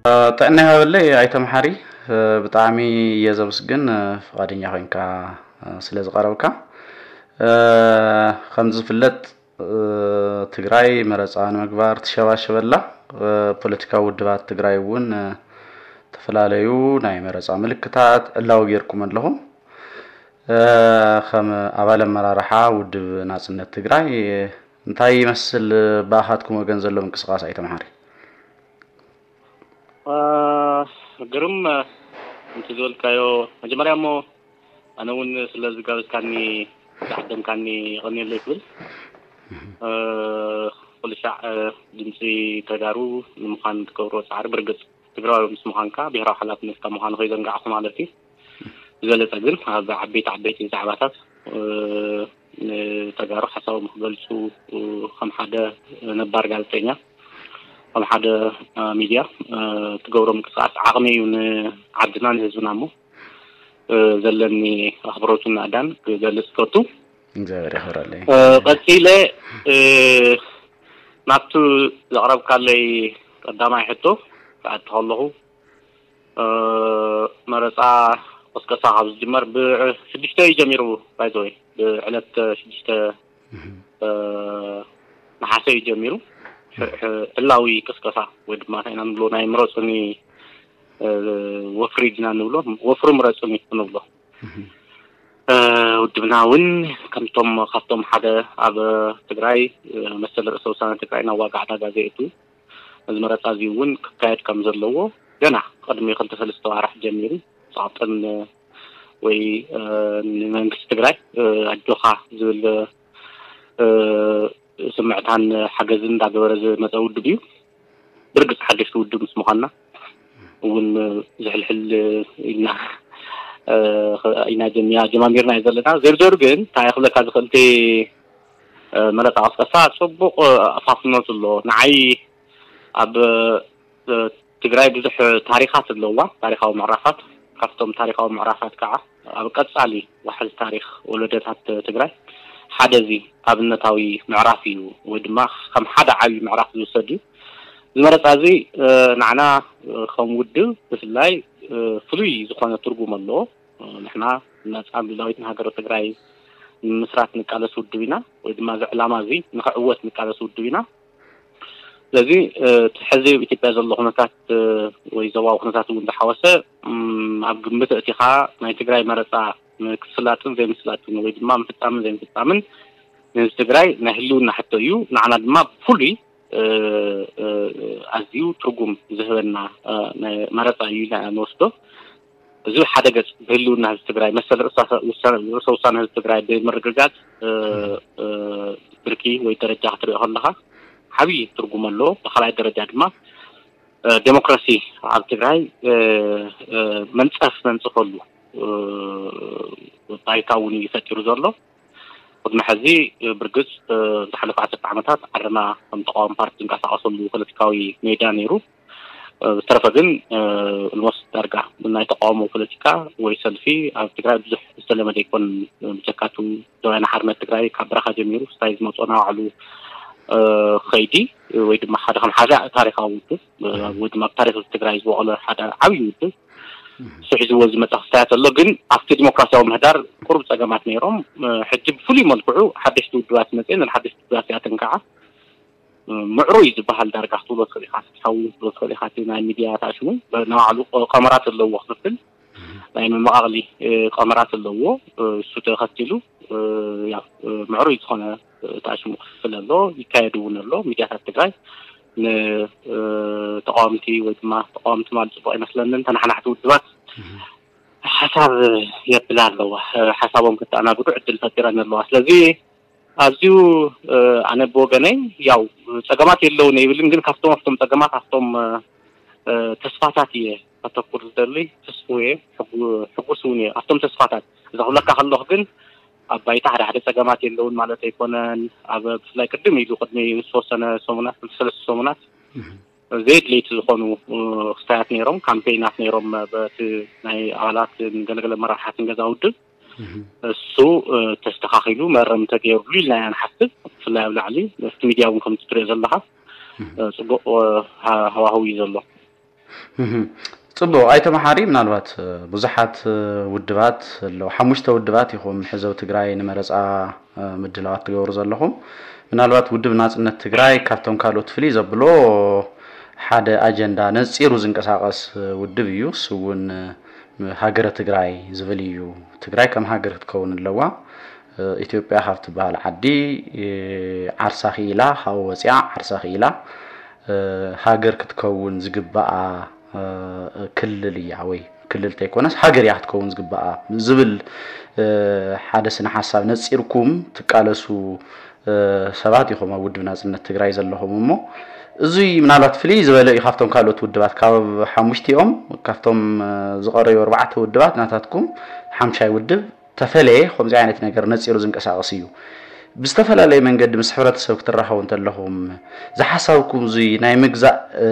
ጥዕና ይሃበለይ ኣይተ መሓሪ። ብጣዕሚ እየ ዘመስግን ፍቓደኛ ኮይንካ ስለ ዝቐረብካ። ከምቲ ዝፍለጥ ትግራይ መረፃ ንምግባር ትሸባሸበላ። ፖለቲካዊ ውድባት ትግራይ እውን ዝተፈላለዩ ናይ መረፃ ምልክታት ዕላዊ ጌርኩም ኣለኹም። ከም ኣባል ኣመራርሓ ውድብ ናፅነት ትግራይ እንታይ ይመስል ብኣኻትኩም ወገን ዘሎ ምንቅስቃስ ኣይተ መሓሪ? ግርም፣ እቲ ዝበልካዮ መጀመርያ እሞ ኣነ እውን ስለ ዝጋበዝካኒ ዝዓደምካኒ የቐንየለይ ክብል። ኩሉ ሻዕ ድምፂ ተጋሩ ንምዃን ትገብሮ ፃዕሪ ብርግፅ ትግራዊ ምስ ምዃንካ ብሄራዊ ሓላፍነትካ ምዃኑ ከይዘንጋዕኩ ማለት እዩ። ዝበለፀ ግን ኣብ ዓበይቲ ዓበይቲ ዛዕባታት ንተጋሩ ሓሳቦም ክገልፁ ከም ሓደ ነባር ጋዜጠኛ ከም ሓደ ሚድያ ትገብሮ ምንቅስቃስ ዓቕሚ እዩ ንዓድና ንህዝብና እሞ ዘለኒ ኣኽብሮትን ናእዳን ክገልፅ ከቱ። እግዚኣብሔር ይኽብረለይ። ቀፂለ ናብቲ ዘቕረብካለይ ቀዳማይ ሕቶ ክኣቱ ከለኹ መረፃ ቅስቀሳ ካብ ዝጅመር ብሽዱሽተ እዩ ጀሚሩ። ባይዘወይ ብዕለት ሽዱሽተ ነሓሰ እዩ ጀሚሩ። ዕላዊ ቅስቀሳ ወይ ድማ እንታይ ኢና ንብሎ ናይ ምረፁኒ ወፍሪ ድና ንብሎ ወፍሪ ምረፁኒ ንብሎ። ውድብና እውን ከምቶም ካብቶም ሓደ ኣብ ትግራይ መሰል ርእሰ ውሳነ ትግራይ ናብ ዋጋ ዕዳጋ ዘእቱ እዚ መረፃ እዚ እውን ክካየድ ከም ዘለዎ ገና ቅድሚ ክልተ ሰለስተ ዋራሕ ጀሚሩ ፃዕጥን ወይ ንመንግስቲ ትግራይ ኣጆኻ ዝብል ስምዕታን ሓገዝን እንዳገበረ ዝመፀ ውድብ እዩ። ብርግፅ ሓደሽቲ ውድብ ምስ ምዃንና እውን ዝሕልሕል ኢልና ኢና ጀሚያ ጀማሚርና እዩ ዘለና። ዘርዘሩ ግን እንታይ ክብለካ ዝኽእል እቲ መረፃ ቅስቀሳ ፅቡቕ ኣፋፍኖት ኣሎ። ንዓይ ኣብ ትግራይ ብዙሕ ታሪኻት ኣለዋ፣ ታሪኻዊ ምዕራፋት። ካብቶም ታሪኻዊ ምዕራፋት ከዓ ኣብ ቀፃሊ ዋሕዚ ታሪኽ ወለደታት ትግራይ ሓደ እዚ ኣብነታዊ ምዕራፍ እዩ፣ ወይ ድማ ከም ሓደ ዓብዪ ምዕራፍ ዝውሰድ እዩ። እዚ መረፃ እዚ ንዓና ከም ውድብ ብፍላይ ፍሉይ ዝኾነ ትርጉም ኣለዎ። ንሕና ነፃን ሉላዊትን ሃገረ ትግራይ ንምስራት ንቃለስ ውድብ ኢና፣ ወይ ድማ እዚ ዕላማ እዚ ንክዕወት ንቃለስ ውድብ ኢና። ስለዚ እቲ ሕዚ ኣብ ኢትዮጵያ ዘሎ ኩነታት ወይ ዞባዊ ኩነታት እውን ዝሓወሰ ኣብ ግምት ኣእቲኻ ናይ ትግራይ መረፃ ምክስላጥን ዘይምስላጥን ወይ ድማ ምፍፃምን ዘይምፍፃምን ንህዝቢ ትግራይ ናይ ህልውና ሕቶ እዩ። ንዓና ድማ ብፍሉይ ኣዝዩ ትርጉም ዝህበና መረፃ እዩ ኢልና ኢና ንወስዶ። እዚ ሓደ ገፅ ብህልውና ህዝቢ ትግራይ መሰል ርእሰ ውሳነ ህዝቢ ትግራይ ብምርግጋፅ ብርኪ ወይ ደረጃ ክትሪኦ ከለካ ዓብዪ ትርጉም ኣለዎ። ብካልኣይ ደረጃ ድማ ዴሞክራሲ ኣብ ትግራይ መንፀፍ መንፅፈሉ ባይታ እውን እዩ ፈጢሩ ዘሎ። ቅድሚ ሕዚ ብርግፅ ዝሓለፈ ዓሰርተ ዓመታት ዓድና ከም ተቃዋሚ ፓርቲ ዝንቀሳቀሰሉ ፖለቲካዊ ሜዳ ነይሩ። ብዝተረፈ ግን ልሞስ ዳርጋ ናይ ተቃውሞ ፖለቲካ ወይ ሰልፊ ኣብ ትግራይ ብዙሕ ዝተለመደ ኣይኮን። ብጀካቱ ደዋይና ሓርነት ትግራይ ካብ በረኻ ጀሚሩ ስታይ ዝመፅኦ ናባዕሉ ከይዲ ወይ ድማ ሓደ ከም ሓደ ታሪካዊ ውድብ ወይ ድማ ኣብ ታሪክ ትግራይ ዝበቆለ ሓደ ዓብዪ ውድብ ንሱ ሒዝዎ ዝመፀ ክስታያት ኣሎ። ግን ኣብቲ ዲሞክራሲያዊ ምህዳር ቁሩብ ፀገማት ነይሮም። ሕጂ ብፍሉይ መልክዑ ሓደሽቲ ውድባት መፅአን ሓደሽቲ ውድባት ያተን ከዓ ምዕሩይ ዝበሃል ዳርጋ ክትብሎ ትኽእል ኢኻ። ፍትሓዊ ክትብሎ ትኽእል ኢኻ። እቲ ናይ ሚድያ ተኣሽሙ ንባዕሉ ቀመራት ኣለዎ ክፍፍል ናይ መመቓቕሊ ቀመራት ኣለዎ። እሱ ተኸቲሉ ያው ምዕሩይ ዝኾነ ተኣሽሙ ክፍፍል ኣሎ፣ ይካየድ እውን ኣሎ። ሚድያታት ትግራይ ንተቃወምቲ ወይ ድማ ተቃወምቲ ማለት ፅቡቅ ኣይመስለንን። ተናሓናሕቲ ውድባት ሓሳብ የብላ ኣለዋ፣ ሓሳቦም ክተኣናግዱ ዕድል ፈጢረን ኣለዋ። ስለዚ ኣዝዩ ኣነ ብወገነይ ያው ፀገማት የለውን ይብልን፣ ግን ካብቶም ኣብቶም ፀገማት ኣብቶም ተስፋታት እየ ከተኩር ዝደሊ። ተስፉ እየ፣ ሕጉስ እውን እየ ኣብቶም ተስፋታት። እዛ ክብለካ ከለኹ ግን ኣብ ባይታ ሓደ ሓደ ፀገማት የለውን ማለት ኣይኮነን። ኣብ ብፍላይ ቅድም ኢሉ ቅድሚ ዝተወሰነ ሰሙናት ክልተ ሰለስተ ሰሙናት ዘየድለይቲ ዝኾኑ ክስታያት ነይሮም፣ ካምፔይናት ነይሮም በቲ ናይ ኣባላት ገለገለ መራሕትን ገዛ ውድብ እሱ ተስተኻኺሉ መረም ተገይርሉ ኢልና ኢና ንሓስብ። ብፍላይ ኣብ ላዕሊ ኣብቲ ሚድያ እውን ከምቲ ትሪኦ ዘለኻ ፅቡቅ ሃዋህው እዩ ዘሎ። እህ። ጽቡቕ ኣይተ መሓሪ፣ ምናልባት እ፣ ብዙሓት እ፣ ውድባት ኣለዉ። ሓሙሽተ ውድባት ኢኹም ሕዚ ኣብ ትግራይ ንመረፃ እ፣ ምድላዋት ትገብሩ ዘለኹም። ምናልባት ውድብ ናጽነት ትግራይ ካብቶም ካልኦት ፍልይ ዘብሎ ሓደ ኣጀንዳ ነጺሩ ዝንቀሳቐስ እ፣ ውድብ እዩ። እሱ እውን እ፣ ሃገረ ትግራይ ዝብል እዩ። ትግራይ ከም ሃገር ክትከውን ኣለዋ። እ፣ ኢትዮጵያ ካብ ትበሃል ዓዲ እ፣ ዓርሳ ክኢላ፣ ካብኡ ወፂኣ ዓርሳ ክኢላ እ፣ ሃገር ክትከውን ዝግባኣ እ፣ ክልል እያ ወይ ክልል ተይኮነስ ሃገር እያ ክትከውን ዝግባኣ ዝብል እ፣ ሓደ ስነ ሓሳብ ነፂርኩም ትቃለሱ እ፣ ሰባት ኢኹም ኣብ ውድብ ናፅነት ትግራይ ዘለኹም። እሞ እዙይ ምናልባት ፍልይ ዝበለ እዩ ካብቶም ካልኦት ውድባት። ካብ ሓሙሽቲኦም ካብቶም እ፣ ዝቐረዩ ኣርባዕተ ውድባት ናታትኩም ሓምሻይ ውድብ ተፈለየ ከምዚ ዓይነት ነገር ነፂሩ ዝንቀሳቐስ እዩ። ብዝተፈላለየ መንገዲ ምስ ሕብረተሰብ ክትራኸቡ እንተለኹም ዝሓሳብኩም እዙይ ናይ ምግዛእ እ፣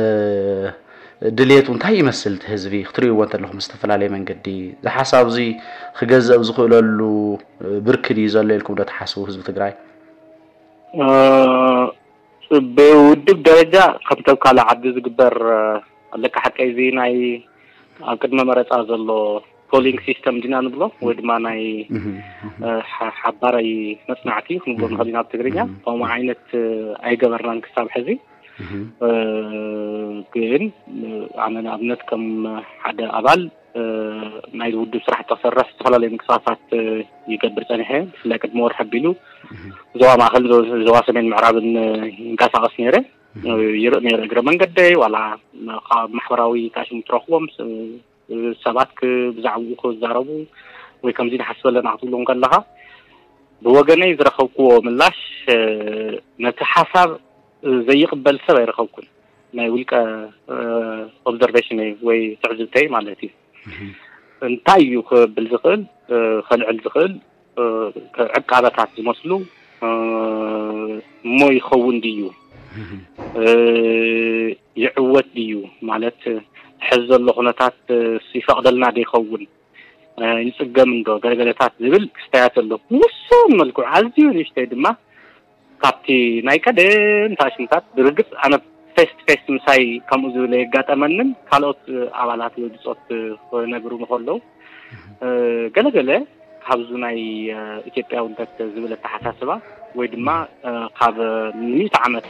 ድሌቱ እንታይ ይመስል? እቲ ህዝቢ ክትርእይዎ እንተለኹም ብዝተፈላለየ መንገዲ ዝሓሳብ እዙይ ክገዝእ ኣብ ዝኽእለሉ እ፣ ብርኪ ድዩ ዘሎ ኢልኩም ዶ ትሓስቡ ህዝቢ ትግራይ? እ፣ ብውድብ ደረጃ ከምቶም ካልእ ዓዲ ዝግበር እ፣ ኣለካ ሓቀይ እዚ ናይ ኣብ ቅድመ መረፃ ዘሎ ፖሊንግ ሲስተም ዲና ንብሎ ወይ ድማ ናይ እህ፣ እህ፣ እ፣ ሓ- ሓባራይ መፅናዕቲ ክንብሎ እህ፣ ንኽእል ኢና ኣብ ትግርኛ እህ፣ ከምኡ ዓይነት እ፣ ኣይገበርናን ክሳብ ሕዚ። እህ፣ እ፣ ግን እ፣ ኣነ ንኣብነት ከም ሓደ ኣባል እ፣ ናይ ውድብ ስራሕ ተሰርሕ ዝተፈላለዩ ምንቅስቃሳት እ፣ ይገብር ፀኒሐ። ብፍላይ ቅድሚ ወርሒ ኣቢሉ እህ፣ ዞባ ማእከል ዞ- ዞባ ሰሜን ምዕራብን እ፣ ይንቀሳቀስ ነይረ። እህ፣ ይርኢ ነይረ እግረ መንገደይ ዋላ ካብ ማሕበራዊ ታሽሙ ትረኽቦም ስ- ሰባት ክ- ብዛዕባኡ ክዛረቡ ወይ ከምዚ ንሓስበ ኣለና ክትብሎም ከለኻ ብወገነይ ዝረኸብክዎ ምላሽ እ፣ ነቲ ሓሳብ እ፣ ዘይቕበል ሰብ ኣይረኸብኩን። ናይ ውልቀ እ፣ ኦብዘርቬሽነይ ወይ ትዕዝብተይ ማለት እዩ። እህ፣ እንታይ እዩ ክብል ዝኽእል እ፣ ከልዕል ዝኽእል እ፣ ዕቃበታት ዝመስሉ እ፣ እሞ ይኸውን ድዩ እ፣ ይዕወት ድዩ ማለት ሕዚ ዘሎ ኩነታት እ፣ ይፈቕደልና ዶ ይኸውን እ፣ ይፅገም እንዶ ገለገለታት ዝብል ክስተያት ኣሎ። ውሱን መልክዑ ኣዝዩ ንእሽተይ ድማ ካብቲ ናይ ቀደም ታሽምታት ብርግፅ ኣነ ፌስ ቱ ፌስ ምሳይ ከምኡ ዝብል የጋጠመንን ካልኦት ኣባላት ወይ ብፆት ክነግሩ ንከለዉ ገለገለ ካብዚ ናይ ኢትዮጵያውነት ዝብል ኣተሓሳስባ ወይ ድማ ካብ ሚእቲ ዓመት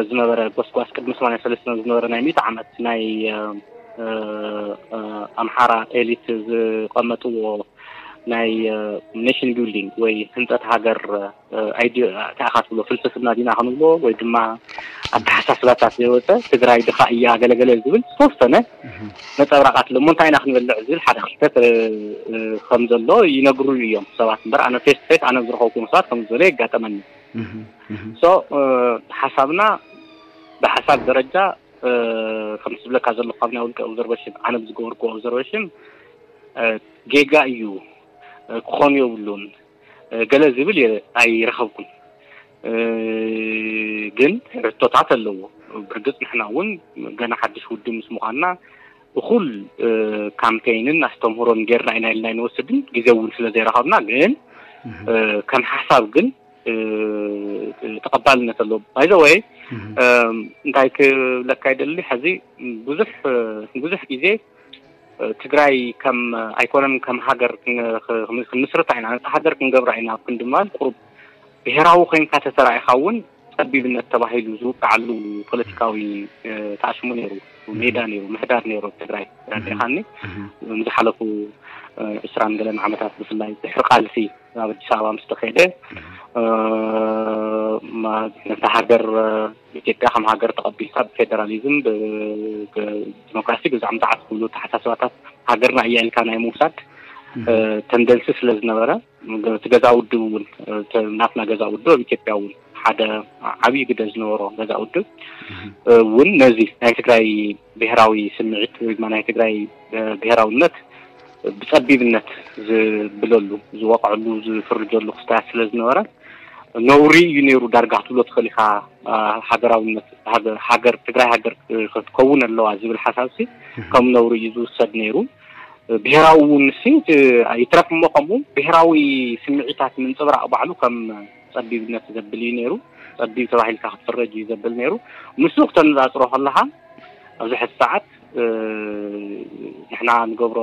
ዝነበረ ጎስጓስ ቅድሚ ሰማንያ ሰለስተ ዝነበረ ናይ ሚእቲ ዓመት ናይ ኣምሓራ ኤሊት ዝቐመጥዎ ናይ ኔሽን ቢልዲንግ ወይ ህንፀት ሃገር ኣይዲ እንታይ ኢኻ ትብሎ ፍልስፍና ዲና ክንብሎ ወይ ድማ ኣተሓሳስባታት ዘይወፀ ትግራይ ድኻ እያ ገለገለ ዝብል ዝተወሰነ ነፀብራቃት ኣሎ። እሞ እንታይ ኢና ክንበልዕ ዝብል ሓደ ክልተ ከም ዘሎ ይነግሩኒ እዮም ሰባት። እምበር ኣነ ፌስ ቱ ፌስ ኣነ ዝረኸብኩም ሰባት ከም ዝበለ የጋጠመኒ። ሶ ሓሳብና ብሓሳብ ደረጃ ከም ዝብለካ ዘለኹ ካብ ናይ ውልቀ ኦብዘርቬሽን ኣነ ብዝገበርኩ ኦብዘርቬሽን ጌጋ እዩ ክኾኑ የብሉን ገለ ዝብል ኣይረኸብኩን። ግን ሕቶታት ኣለዎ። ብርግፅ ንሕና እውን ገና ሓድሽ ውድብ ምስ ምዃንና እኹል ካምፔይንን ኣስተምህሮን ጌርና ኢና ኢልና ኣይንወስድን። ግዜ እውን ስለ ዘይረኸብና ግን ከም ሓሳብ ግን ተቐባልነት ኣለዎ። ባይ ዘ ወይ እንታይ ክብለካ ይደሊ፣ ሕዚ ብዙሕ ብዙሕ ግዜ ትግራይ ከም ኣይኮነን ከም ሃገር ክንምስርታ ኢና፣ ነፃ ሃገር ክንገብራ ኢና ኣብ ክንዲ ምባል ቁሩብ ብሄራዊ ኮይንካ ተተራኢኻ እውን ፀቢብነት ተባሂሉ ዝውቃዓሉ ፖለቲካዊ ተኣሽሙ ነይሩ፣ ሜዳ ነይሩ፣ ምሕዳር ነይሩ ኣብ ትግራይ። ረዲኻኒ ንዝሓለፉ ዕስራን ገለን ዓመታት ብፍላይ ድሕሪ ቃልሲ ኣብ ኣዲስ ኣበባ ምስ ተኸደ ነታ ሃገር ኢትዮጵያ ከም ሃገር ተቐቢልካ ብፌደራሊዝም ብዲሞክራሲ ብዛዕምዛዓት ዝብሉ ተሓሳስባታት ሃገርና እያ ኢልካ ናይ ምውሳድ ተንደንሲ ስለ ዝነበረ እቲ ገዛ ውድብ እውን ናትና ገዛ ውድብ ኣብ ኢትዮጵያ እውን ሓደ ዓብዪ ግደ ዝነበሮ ገዛ ውድብ እውን ነዚ ናይ ትግራይ ብሄራዊ ስምዒት ወይ ድማ ናይ ትግራይ ብሄራዊነት ብፀቢብነት ዝብለሉ ዝወቅዐሉ ዝፍርጀሉ ክስታያት ስለ ዝነበረ ነውሪ እዩ ነይሩ። ዳርጋ ክትብሎ ትኽእል ኢኻ። ሃገራዊነት ሃገር ትግራይ ሃገር ክትከውን ኣለዋ ዝብል ሓሳብ ሲ ከም ነውሪ እዩ ዝውሰድ ነይሩ። ብሄራዊ እውን ሲ ይትረፍ እሞ ከምኡ ብሄራዊ ስምዒታት ምንፅብራቕ ባዕሉ ከም ፀቢብነት ዘብል እዩ ነይሩ። ፀቢብ ተባሂልካ ክትፍረጅ እዩ ዘብል ነይሩ። ምስ ክተነፃፅሮ ከለካ ኣብዚ ሕዚ ሰዓት ንሕና ንገብሮ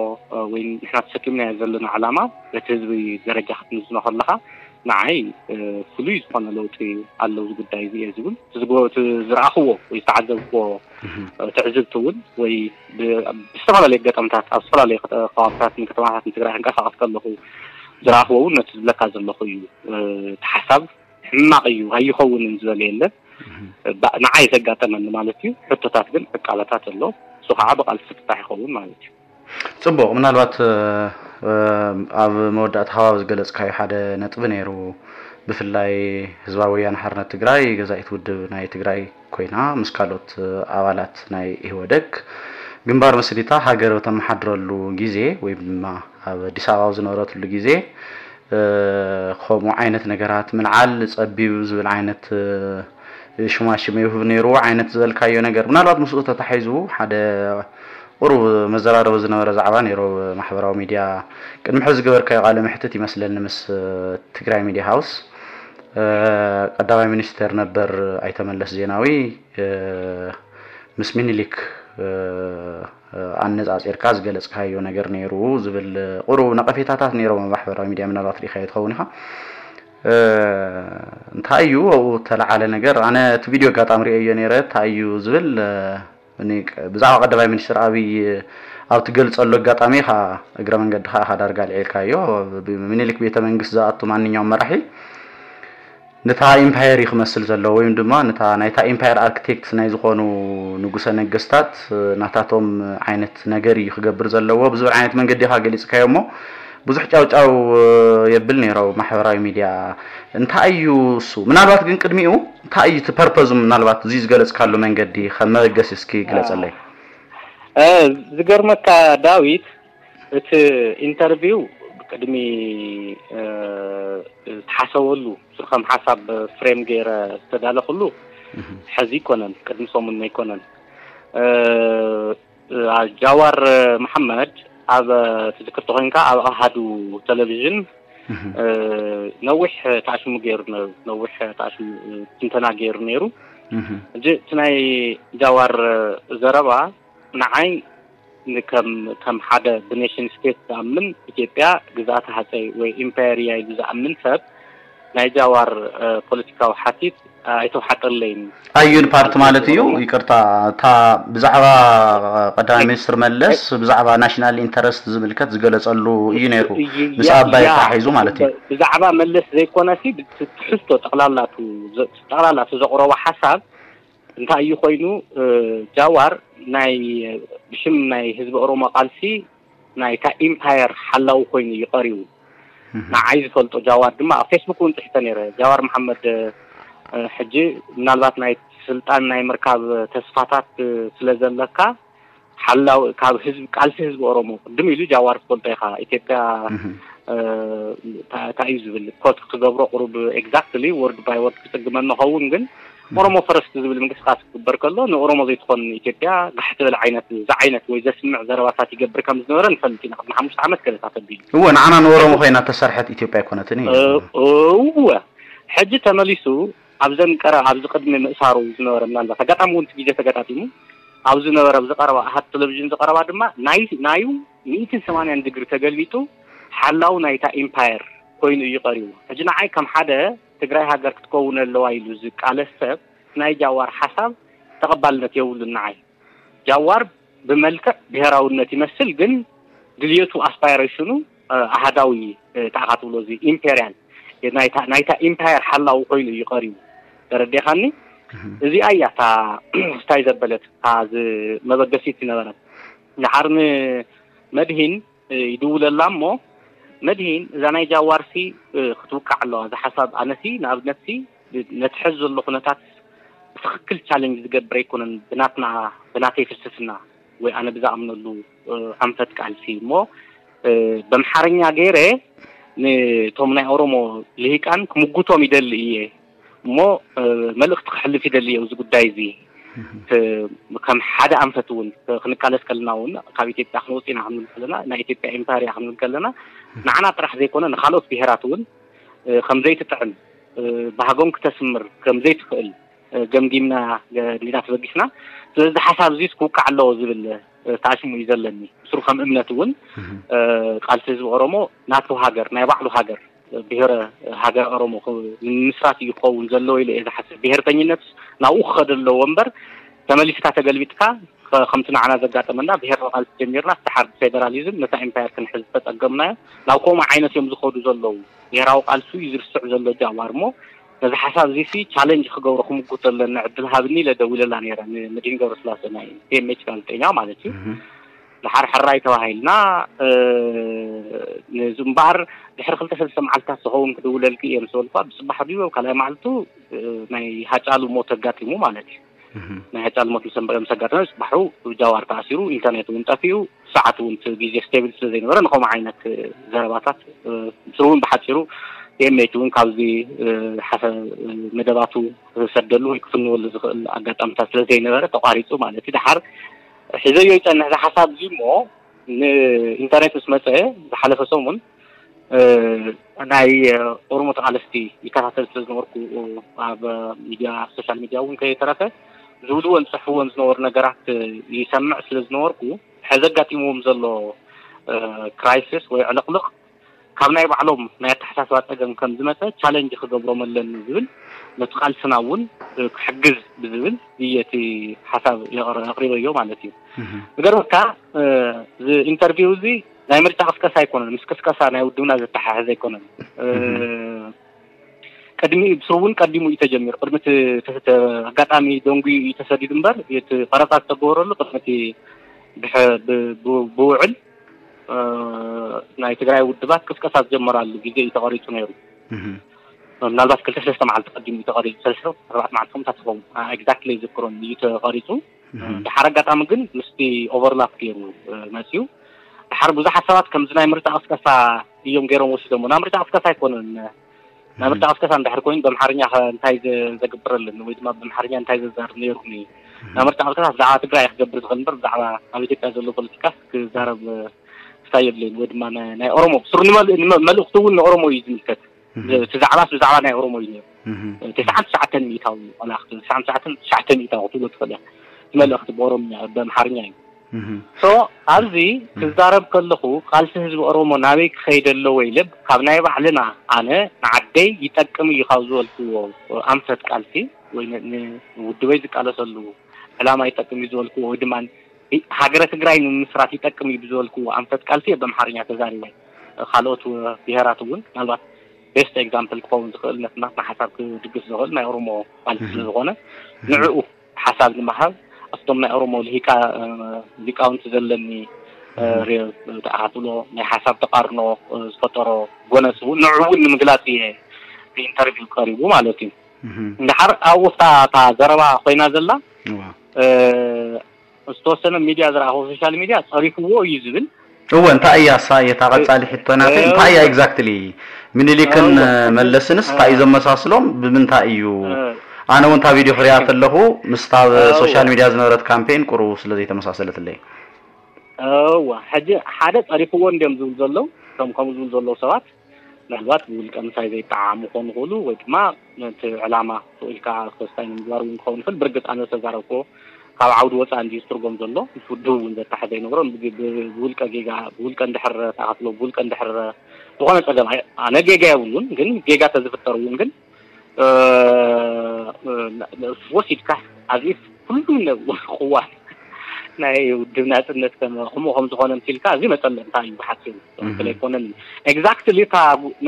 ወይ ንሕና ተሰኪምናዮ ዘለና ዓላማ በቲ ህዝቢ ደረጃ ክትምዝኖ ከለኻ ንዓይ ፍሉይ ዝኾነ ለውጢ ኣለዉ እዚ ጉዳይ እዚ እየ ዝብል። ዝረኣኽዎ ወይ ዝተዓዘብክዎ ትዕዝብቲ እውን ወይ ብዝተፈላለዩ ኣጋጣምታት ኣብ ዝተፈላለዩ ከባብታትን ከተማታትን ትግራይ ክንቀሳቐስ ከለኹ ዝረኣኽዎ እውን ነቲ ዝብለካ ዘለኹ እዩ። እቲ ሓሳብ ሕማቕ እዩ ኣይኸውንን ዝበለ የለን። ንዓይ ዘጋጠመኒ ማለት እዩ። ሕቶታት ግን ዕቃበታት ኣሎ። እሱ ከዓ ብቃልሲ ፍታሕ ይኸውን ማለት እዩ። ፅቡቕ። ምናልባት ኣብ መወዳእታ ከባቢ ዝገለፅካዮ ሓደ ነጥቢ ነይሩ። ብፍላይ ህዝባዊ ወያነ ሓርነት ትግራይ ገዛኢት ውድብ ናይ ትግራይ ኮይና ምስ ካልኦት ኣባላት ናይ ኢህወደግ ግንባር መስሪታ ሃገር በተመሓድረሉ ግዜ ወይ ድማ ኣብ ኣዲስ ኣበባ ዝነበረትሉ ግዜ ከምኡ ዓይነት ነገራት ምልዓል ፀቢብ ዝብል ዓይነት ሽማሽም ይህብ ነይሩ ዓይነት ዝበልካዮ ነገር ምናልባት ምስኡ ተታሒዙ ሓደ ቁሩብ መዘራረቢ ዝነበረ ዛዕባ ነይሩ። ማሕበራዊ ሚድያ ቅድሚ ሕዚ ዝገበርካዮ ቃለ መሕትት ይመስለኒ ምስ ትግራይ ሚድያ ሃውስ ቀዳማይ ሚኒስተር ነበር ኣይተ መለስ ዜናዊ ምስ ሚኒሊክ ኣነፃፂርካ ዝገለፅካዮ ነገር ነይሩ ዝብል ቁሩብ ነቐፌታታት ነይሮም ኣብ ማሕበራዊ ሚድያ ምናልባት ርኢኻዮ ትኸውን ኢኻ። እንታይ እዩ ኣብኡ ተለዓለ ነገር ኣነ እቲ ቪድዮ ኣጋጣሚ ርእየዮ ነይረ እንታይ እዩ ዝብል ብዛዕባ ቀዳማይ ሚኒስትር ኣብይ ኣብ ትገልፀሉ ኣጋጣሚ ኢኻ እግረ መንገድኻ ኢኻ ዳርጋ ልዒልካዮ። ምኒልክ ቤተ መንግስት ዝኣቱ ማንኛውም መራሒ ነታ ኢምፓየር እዩ ክመስል ዘለዎ ወይም ድማ ነታ ናይታ ኢምፓየር ኣርክቴክት ናይ ዝኾኑ ንጉሰ ነገስታት ናታቶም ዓይነት ነገር እዩ ክገብር ዘለዎ ብዝብል ዓይነት መንገዲ ኢኻ ገሊፅካዮ እሞ ብዙሕ ጫውጫው የብል ነይሮ ማሕበራዊ ሚድያ እንታይ እዩ እሱ ምናልባት ግን ቅድሚኡ እንታይ እዩ እቲ ፐርፐዙ ምናልባት እዚ ዝገለፅካሉ መንገዲ ከም መበገሲ እስኪ ግለፀለይ ዝገርመካ ዳዊት እቲ ኢንተርቪው ቅድሚ ዝተሓሰበሉ ከም ሓሳብ ፍሬም ገይረ ዝተዳለኩሉ ሕዚ ይኮነን ቅድሚ ሰሙን ኣይኮነን ጃዋር መሓመድ ኣብ ትዝክር ተኮይንካ ኣብ ኣሃዱ ቴሌቪዥን ነዊሕ ተኣሽሙ ገይሩ ነሩ ነዊሕ ተኣሽሙ ትንተና ገይሩ ነይሩ እዚ እቲ ናይ ጃዋር ዘረባ ንዓይ ከም ከም ሓደ ብኔሽን ስቴት ዝኣምን ኢትዮጵያ ግዝኣተ ሃፀይ ወይ ኢምፓየር እያ ኢሉ ዝኣምን ሰብ ናይ ጃዋር ፖለቲካዊ ሓቲት ኣይተውሓጠለይን። ኣዩን ፓርቲ ማለት እዩ ይቅርታ እታ ብዛዕባ ቀዳማይ ሚኒስትር መለስ ብዛዕባ ናሽናል ኢንተረስት ዝምልከት ዝገለፀሉ እዩ ነይሩ ምስ ኣባይ ተታሒዙ ማለት እዩ። ብዛዕባ መለስ ዘይኮነሲ ትሕዝቶ ጠቅላላቱ ጠቅላላቱ ዘቅረቦ ሓሳብ እንታይ እዩ ኮይኑ ጃዋር ናይ ብሽም ናይ ህዝቢ ኦሮሞ ቃልሲ ናይታ ኢምፓየር ሓላዊ ኮይኑ እዩ ቀሪቡ። ንዓይ ዝፈልጦ ጃዋር ድማ ኣብ ፌስቡክ እውን ፅሒፈ ነይረ። ጃዋር መሓመድ ሕጂ ምናልባት ናይ ስልጣን ናይ ምርካብ ተስፋታት ስለ ዘለካ ሓላው ካብ ህዝቢ ቃልሲ ህዝቢ ኦሮሞ ቅድም ኢሉ ጃዋር ትፈልጦ ኢኻ ኢትዮጵያ እንታይ እዩ ዝብል ኮት ክትገብሮ ቁሩብ exactly word by word ክፅግመኒ ኸውን ግን ኦሮሞ ፈረስት ዝብል ምንቅስቃስ ክግበር ከሎ ንኦሮሞ ዘይትኾን ኢትዮጵያ ጋሕ ትብል ዓይነት ዝዓይነት ወይ ዘስምዕ ዘረባታት ይገብር ከም ዝነበረ ንፈልጥ ኢና ቅድሚ ሓሙሽተ ዓመት ገለታት ኣቢሉ እወ ንዓና ንኦሮሞ ኮይና ተሰርሐት ኢትዮጵያ ኣይኮነትን እዩ እወ ሕጂ ተመሊሱ ኣብዘን ቀረ ኣብዚ ቅድሚ ምእሳሩ ዝነበረ ምናልባት ኣጋጣሚ እውን ግዜ ተገጣጢሙ ኣብ ዝነበረ ኣብ ዝቀረባ ኣሃት ቴሌቪዥን ዝቀረባ ድማ ናይ ናዩ ሚእትን ሰማንያን ድግሪ ተገልቢጡ ሓላው ናይታ ኢምፓየር ኮይኑ እዩ ቀሪቡ። ሕጂ ንዓይ ከም ሓደ ትግራይ ሃገር ክትከውን ኣለዋ ኢሉ ዝቃለስ ሰብ ናይ ጃዋር ሓሳብ ተቐባልነት የብሉን ንዓይ። ጃዋር ብመልክዕ ብሄራውነት ይመስል ግን ድልየቱ ኣስፓይሬሽኑ ኣሃዳዊ እንታይ ኢኻ ትብሎ እዚ ኢምፔርያል ናይታ ኢምፓየር ሓላዊ ኮይኑ እዩ ቀሪቡ። ተረዲእኻኒ? እዚኣ እያ እታ ስታይ ዘበለት እታ መበገሲት ዝነበረት። ድሓር ንመድሂን ይድውለላ እሞ መድሂን እዛ ናይ ጃዋርሲ ክትውቃዕ ኣለዋ። እዚ ሓሳብ ኣነሲ ንኣብነትሲ ነቲ ሕዚ ዘሎ ኩነታት ብትኽክል ቻለንጅ ዝገብር ኣይኮነን ብናትና ብናተይ ፍልስፍና ወይ ኣነ ብዝኣምነሉ ኣንፈት ቃልሲ እሞ በምሓርኛ ገይረ ንቶም ናይ ኦሮሞ ልሂቃን ክምጉቶም ይደሊ እየ እሞ መልእክቲ ክሕልፍ ይደሊ እየ እዚ ጉዳይ እዚ ከም ሓደ ኣንፈት እውን ክንቃለስ ከለና እውን ካብ ኢትዮጵያ ክንወፅእ ኢና ክንብል ከለና ናይ ኢትዮጵያ ኤምፓየር እያ ክንብል ከለና ንዓና ጥራሕ ዘይኮነ ንካልኦት ብሄራት እውን ከምዘይትጥዕም ባህጎም ክተስምር ከምዘይትኽእል ገምጊምና እንዲና ተበጊስና። ስለዚ ሓሳብ እዚስ ክውቃዕ ኣለዎ ዝብል ተኣሽሙ እዩ ዘለኒ። ብስሩ ከም እምነት እውን ቃልሲ ህዝቢ ኦሮሞ ናቱ ሃገር፣ ናይ ባዕሉ ሃገር፣ ብሄረ ሃገር ኦሮሞ ንምስራት እዩ ክኸውን ዘለዎ ኢለ እየ ዝሓስብ። ብሄርተኝነት ናብኡ ክኸደ ኣለዎ እምበር፣ ተመሊስካ ተገልቢጥካ ከምቲ ንዓና ዘጋጠመና ብሄራዊ ቃልሲ ጀሚርና፣ ደሓር ብፌደራሊዝም ነታ ኢምፓየር ክንሕዝ ዝተጸገምናዮ ናብ ከምኡ ዓይነት እዮም ዝኸዱ ዘለዉ። ብሄራዊ ቃልሲ እዩ ዝርስዕ ዘሎ ጃዋር እሞ፣ ነዚ ሓሳብ እዚ ሲ ቻለንጅ ክገብሮ ክምጉት ዘለኒ ዕድል ሃብኒ ኢለ ደዊለላ ነይረ፣ ንመድህን ገብረስላሴ ናይ ቲ ኤም ኤች ጋዜጠኛ ማለት እዩ። ደሓር ሕራይ ተባሂልና፣ ነዚ እምበኣር ድሕሪ ክልተ ሰለስተ መዓልታት ዝኸውን ክድውለልኪ እየ ምስ በልኳ፣ ብፅባሕ ድዩ ካልኣይ መዓልቱ ናይ ሃጫሉ ሞት ኣጋጢሙ ማለት እዩ። ናይ ሃጫሉ ሞት ምስ ኣጋጠመ፣ ፅባሑ ጃዋር ተኣሲሩ፣ ኢንተርኔት እውን ጠፊኡ፣ ሰዓት እውን እቲ ግዜ ስቴብል ስለ ዘይነበረ፣ ንኸምኡ ዓይነት ዘረባታት ብስሩ እውን ብሓፂሩ ቲ ኤም ኤች እውን ካብዚ ሓሰ መደባቱ ክሰደሉ ወይ ክፍንወሉ ዝኽእል ኣጋጣሚታት ስለ ዘይነበረ ተቋሪፁ ማለት እዩ። ደሓር ሒዘዮ ይፀንሕ እዚ ሓሳብ እዚ እሞ፣ ንኢንተርኔት ምስ መፀ ዝሓለፈ ሰሙን ናይ ኦሮሞ ተቓለስቲ ይከታተል ስለ ዝነበርኩ፣ ኣብ ሚድያ፣ ሶሻል ሚድያ እውን ከይተረፈ ዝብልዎን ዝፅሕፍዎን ዝነበሩ ነገራት ይሰምዕ ስለ ዝነበርኩ፣ ሕዚ ኣጋጢምዎም ዘሎ ክራይሲስ ወይ ዕልቕልቕ ካብ ናይ ባዕሎም ናይ ኣተሓሳስባ ፀገም ከም ዝመፀ ቻለንጅ ክገብሮም ኣለኒ ዝብል፣ ነቲ ቃልስና እውን ክሕግዝ ብዝብል እየ እቲ ሓሳብ የቕር-፣ ኣቕሪበዮ ማለት እዩ። ዝገርመካ፣ እዚ ኢንተርቪው እዚ ናይ ምርጫ ቅስቀሳ ኣይኮነን፣ ምስ ቅስቀሳ ናይ ውድብና ዘተሓሕዝ ኣይኮነን። ቅድሚ ብስሩ እውን ቀዲሙ እዩ ተጀሚሩ። ቅድሚ እቲ፣ እቲ፣ እቲ ኣጋጣሚ ደንጉዩ እዩ ተሰዲዱ እምበር፣ እቲ ቀረፃ ዝተገበረሉ ቅድሚ እቲ ብሕ-፣ ብ-፣ ብ-፣ ብውዕል ናይ ትግራይ ውድባት ቅስቀሳ ዝጀመራሉ ግዜ እዩ ተቐሪፁ ነይሩ። ምናልባት ክልተ ሰለስተ መዓልቲ ቀዲሙ እዩ ተቐሪፁ፣ ሰለስተ ኣርባዕተ መዓልቲ ከምታት ይኸውን፣ ኤግዛክትሊ ኣይዝክሮን እዩ ተቐሪፁ። ድሓር ኣጋጣሚ ግን ምስቲ ኦቨርላፕ ገይሩ መፅዩ። ድሓር ብዙሓት ሰባት ከምዚ ናይ ምርጫ ቅስቀሳ እዮም ገይሮም ወሲዶሞ። ናይ ምርጫ ቅስቀሳ ኣይኮነን። ናይ ምርጫ ቅስቀሳ እንድሕር ኮይኑ ብኣምሓርኛ ከ እንታይ ዘ-፣ ዘግብር ኣለኒ ወይ ድማ ብኣምሓርኛ እንታይ ዘዛርብ ነይሩኒ? ናይ ምርጫ ቅስቀሳ ብዛዕባ ትግራይ ክገብር ዝኽእል እምበር ብዛዕባ ኣብ ኢትዮጵያ ዘሎ ፖለቲካ ክዛረብ ክሳይ የብለይን። ወይ ድማ ናይ፣ ናይ ኦሮሞ ብስሩ ንመል-፣ ንመ-፣ መልእኽቱ እውን ንኦሮሞ እዩ ዝምልከት። እቲ ዛዕባስ ብዛዕባ ናይ ኦሮሞ እዩ ነይሩ። ትስዓን ትሽዓተን ሚእታዊ ዋላ ክትብል፣ ትስዓን ትሽዓተን ትሽዓተ ሚእታዊ ክትብሎ ትኽእል እያ። እቲ መልእኽቲ ብኦሮምኛ፣ ብኣምሓርኛ እዩ። ሶ ኣብዚ ክዛረብ ከለኹ ቃልሲ ህዝቢ ኦሮሞ ናበይ ክኸይድ ኣለዎ ኢለ ካብ ናይ ባዕልና ኣነ ንዓደይ ይጠቅም እዩ ካብ ዝበልክዎ ኣንፈት ቃልሲ ወይ ን-፣ ንውድበይ ዝቃለሰሉ ዕላማ ይጠቅም እዩ ዝበልክዎ ወይ ድማ ሃገረ ትግራይ ንምምስራት ይጠቅም እዩ ብዝበልክዎ ኣንፈት ቃልሲ እየ ብኣምሓርኛ ተዛሪበ። ካልኦት ብሄራት እውን ምናልባት ቤስት ኤግዛምፕል ክኸውን ዝኽእል ነቲ ናትና ሓሳብ ክድግፍ ዝኽእል ናይ ኦሮሞ ቃልሲ ስለ ዝኾነ ንዕኡ ሓሳብ ንምሃብ ኣብቶም ናይ ኦሮሞ ልሂቃ-፣ ሊቃውንቲ ዘለኒ ሬ-፣ ተኣኻትሎ ናይ ሓሳብ ተቃርኖ ዝፈጠሮ ጎነስ እውን ንዕኡ እውን ንምግላፅ እየ ኢንተርቪው ቀሪቡ ማለት እዩ። እንድሓር ኣብኡ እታ፣ እታ ዘረባ ኮይና ዘላ ዝተወሰነ ሚድያ ዝረኣኹ ሶሻል ሚድያ ጸሪፍዎ እዩ ዝብል። እወ፣ እንታይ እያ እሳ እየታ ቀጻሊ ሕቶ ናተይ እንታይ እያ ኤግዛክትሊ ምኒልክን መለስንስ እንታይ እዩ ዘመሳስሎም ብምንታይ እዩ? ኣነ እውን እታ ቪድዮ ክሪኣ ከለኹ ምስታ ሶሻል ሚድያ ዝነበረት ካምፔን ቁሩብ ስለ ዘይተመሳሰለትለይ። እወ፣ ሕጂ ሓደ ጸሪፍዎ እንድዮም ዝብሉ ዘለዉ፣ እቶም ከምኡ ዝብሉ ዘለዉ ሰባት ምናልባት ብውልቀ ምሳይ ዘይጠዓሙ ክኾኑ ይኽእሉ፣ ወይ ድማ ነቲ ዕላማ ስቕ ኢልካ ክስታይ ንምግባር እውን ክኸውን ይኽእል። ብርግጽ ኣነ ዝተዛረብክዎ ካብ ዓውዲ ወጻኢ እንድዩ ዝትርጎም ዘሎ፣ ምስ ውድብ እውን ዘተሓዘ ኣይነበሮን። ብ-፣ ብ-፣ ብውልቀ ጌጋ፣ ብውልቀ እንድሕር ተኣኻትሎ፣ ብውልቀ እንድሕር ዝኾነ ጸገም ኣይ-፣ ኣነ ጌጋ የብሉን፣ ግን ጌጋ ተዝፍጠር እውን ግን እ፣ እ፣ ወሲድካ ኣብዚ ኩሉ ነ-፣ ቅዋም ናይ ውድብ ናጽነት ከም-፣ ከምኡ ከም ዝኾነ ምሲልካ እዚ መጸለምታ እዩ ብሓጺሩ። ትኽክል ኣይኮነን። ኤግዛክትሊ እታ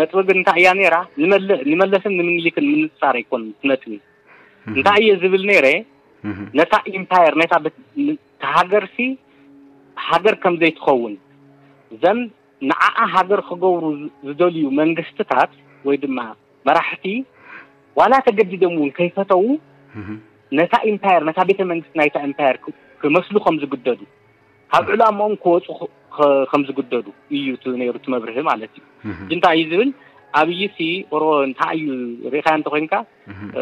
ነጥቢ ግን እንታይ እያ ነይራ? ንመለ-፣ ንመለስን ንምኒልክን ምንጻር ኣይኮነን እቲ ነጥቢ። እንታይ እየ ዝብል ነይረ? ነታ ኢምፓየር፣ ነታ በት-፣ ን-፣ እታ ሃገርሲ ሃገር ከም ዘይትኸውን፣ ዘን ንዓኣ ሃገር ክገብሩ ዝ-፣ ዝደልዩ መንግስትታት ወይ ድማ መራሕቲ ዋላ ተገዲዶም እውን ከይፈተዉ ነታ ኢምፓየር፣ ነታ ቤተ መንግስቲ ናይታ ኢምፓየር ክ-፣ ክመስሉ ከም ዝግደዱ፣ ካብ ዕላምኦም ክወፁ ክ-፣ ክ-፣ ከም ዝግደዱ እዩ እቲ ነይሩ እቲ መብርሂ ማለት እዩ። ሕጂ እንታይ እዩ ዝብል? ኣብይሲ ኦሮ-፣ እንታይ እዩ ርኢኻዮ እንተኮይንካ፣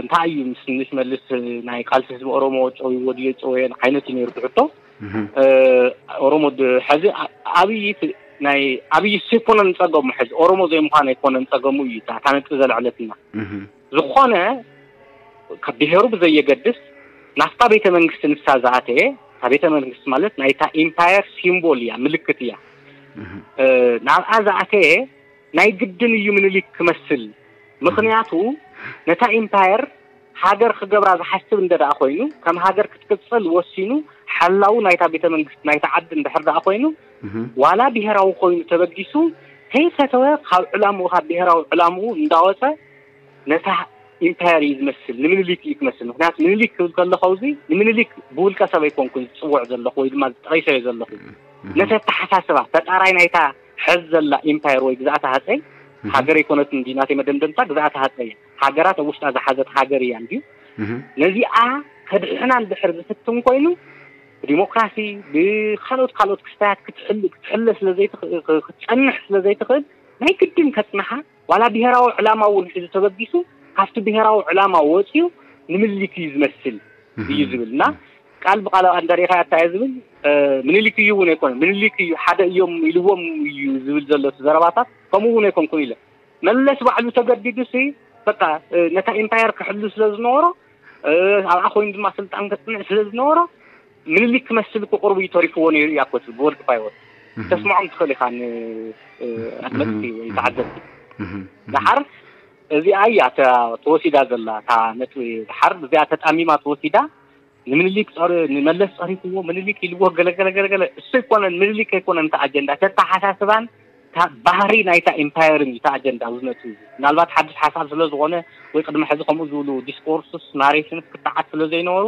እንታይ እዩ ምስ ንሽመልስ ናይ ቃልሲ ህዝቢ ኦሮሞ ጨውይዎ ድዮ ጨወየን ዓይነት እዩ ነይሩ እቲ ሕቶ። እ፣ ኦሮሞ ድ-፣ ሕዚ ኣ-፣ ኣብይ ት-፣ ናይ ኣብይ ስ-፣ ኣይኮነን ጸገሙ፣ ሕዚ ኦሮሞ ዘይምዃን ኣይኮነን ጸገሙ እዩ እታ፣ እታ ነጥቢ ዘልዐለትና። ዝኾነ ካብ ብሄሩ ብዘየገድስ ናብታ ቤተ መንግስቲ ንሳ ዝኣተየ እታ ቤተ መንግስቲ ማለት ናይታ ኢምፓየር ሲምቦል እያ፣ ምልክት እያ። ናብኣ ዝኣተየ ናይ ግድን እዩ ምኒልክ ክመስል። ምክንያቱ ነታ ኢምፓየር ሃገር ክገብራ ዝሓስብ እንደ ደኣ ኮይኑ፣ ከም ሃገር ክትቅጽል ወሲኑ፣ ሓላው ናይታ ቤተ መንግስቲ ናይታ ዓዲ እንድሕር ደኣ ኮይኑ፣ ዋላ ብሄራዊ ኮይኑ ተበጊሱ፣ ከይፈተወ ካብ ዕላምኡ፣ ካብ ብሄራዊ ዕላምኡ እንዳወፀ ነታ ኢምፓየር እዩ ዝመስል፣ ንምኒልክ እዩ ክመስል። ምክንያቱ ምኒልክ ክብል ከለኹ፣ እዚ ንምኒልክ ብውልቀ ሰብ ኣይኮንኩን ዝፅውዕ ዘለኹ ወይ ድማ ዝጠቂሰዮ ዘለኹ። ነቲ ኣተሓሳስባ ፈጣራይ ናይታ ሕዚ ዘላ ኢምፓየር ወይ ግዛኣት ሃፀይ፣ ሃገር ኣይኮነትን እንዲ ናተይ መደምደምታ፣ ግዛኣት ሃፀይ እያ። ሃገራት ኣብ ውሽጣ ዝሓዘት ሃገር እያ እንድዩ። ነዚኣ ከድሕና እንድሕር ዝፍትን ኮይኑ፣ ብዲሞክራሲ፣ ብካልኦት ካልኦት ክስታያት ክትሕል-፣ ክትሕለ ስለ ዘይትኽ-፣ ክትጸንሕ ስለ ዘይትኽእል፣ ናይ ግድን ከጽንሓ፣ ዋላ ብሄራዊ ዕላማ እውን ሒዙ ተበጊሱ፣ ካብቲ ብሄራዊ ዕላማ ወጺኡ ንምልክ እዩ ዝመስል እዩ ዝብል። እና ቃል ብቃል ኣብ ኣንዳሪኻ ኣታየ ዝብል፣ እ፣ ምኒልክ እዩ እውን ኣይኮነን። ምኒልክ እዩ፣ ሓደ እዮም ኢልዎም እዩ ዝብል ዘሎ እቲ ዘረባታት፣ ከምኡ እውን ኣይኮንኩን ኢለ። መለስ ባዕሉ ተገዲዱ ሲ፣ በቃ፣ እ፣ ነታ ኢምፓየር ክሕሉ ስለ ዝነበሮ፣ እ፣ ኣብኣ ኮይኑ ድማ ስልጣን ከጽንዕ ስለ ዝነበሮ፣ ምኒልክ ክመስል እኮ ቅርቡ እዩ ተሪፍዎ ነይሩ እያ እኮ ትብል ብወርቂ ፋይወር። ተስምዖም ትኽእል ኢኻ ን-፣ እ፣ ኣድመፅቲ ወይ ተዓዘብቲ። ደሓር እዚኣ እያ እታ ተወሲዳ ዘላ፣ እታ ነጥቢ ደሓር እዚኣ ተጣሚማ ተወሲዳ። ንምኒልክ ጸሪ-፣ ንመለስ ጸሪፍዎ፣ ምኒልክ ኢልዎ፣ ገለ ገለ ገለ ገለ። እሱ ኣይኮነን፣ ምኒልክ ኣይኮነን እቲ ኣጀንዳ፣ እቲ ኣተሓሳስባን እታ ባህሪ ናይታ ኢምፓየርን እዩ እቲ ኣጀንዳ ኣብዚ ነጥቢ እዚ። ምናልባት ሓድሽ ሓሳብ ስለ ዝኾነ ወይ ቅድሚ ሕዚ ከምኡ ዝብሉ ዲስኮርስስ፣ ናሬሽንስ ክትዓት ስለ ዘይነበሩ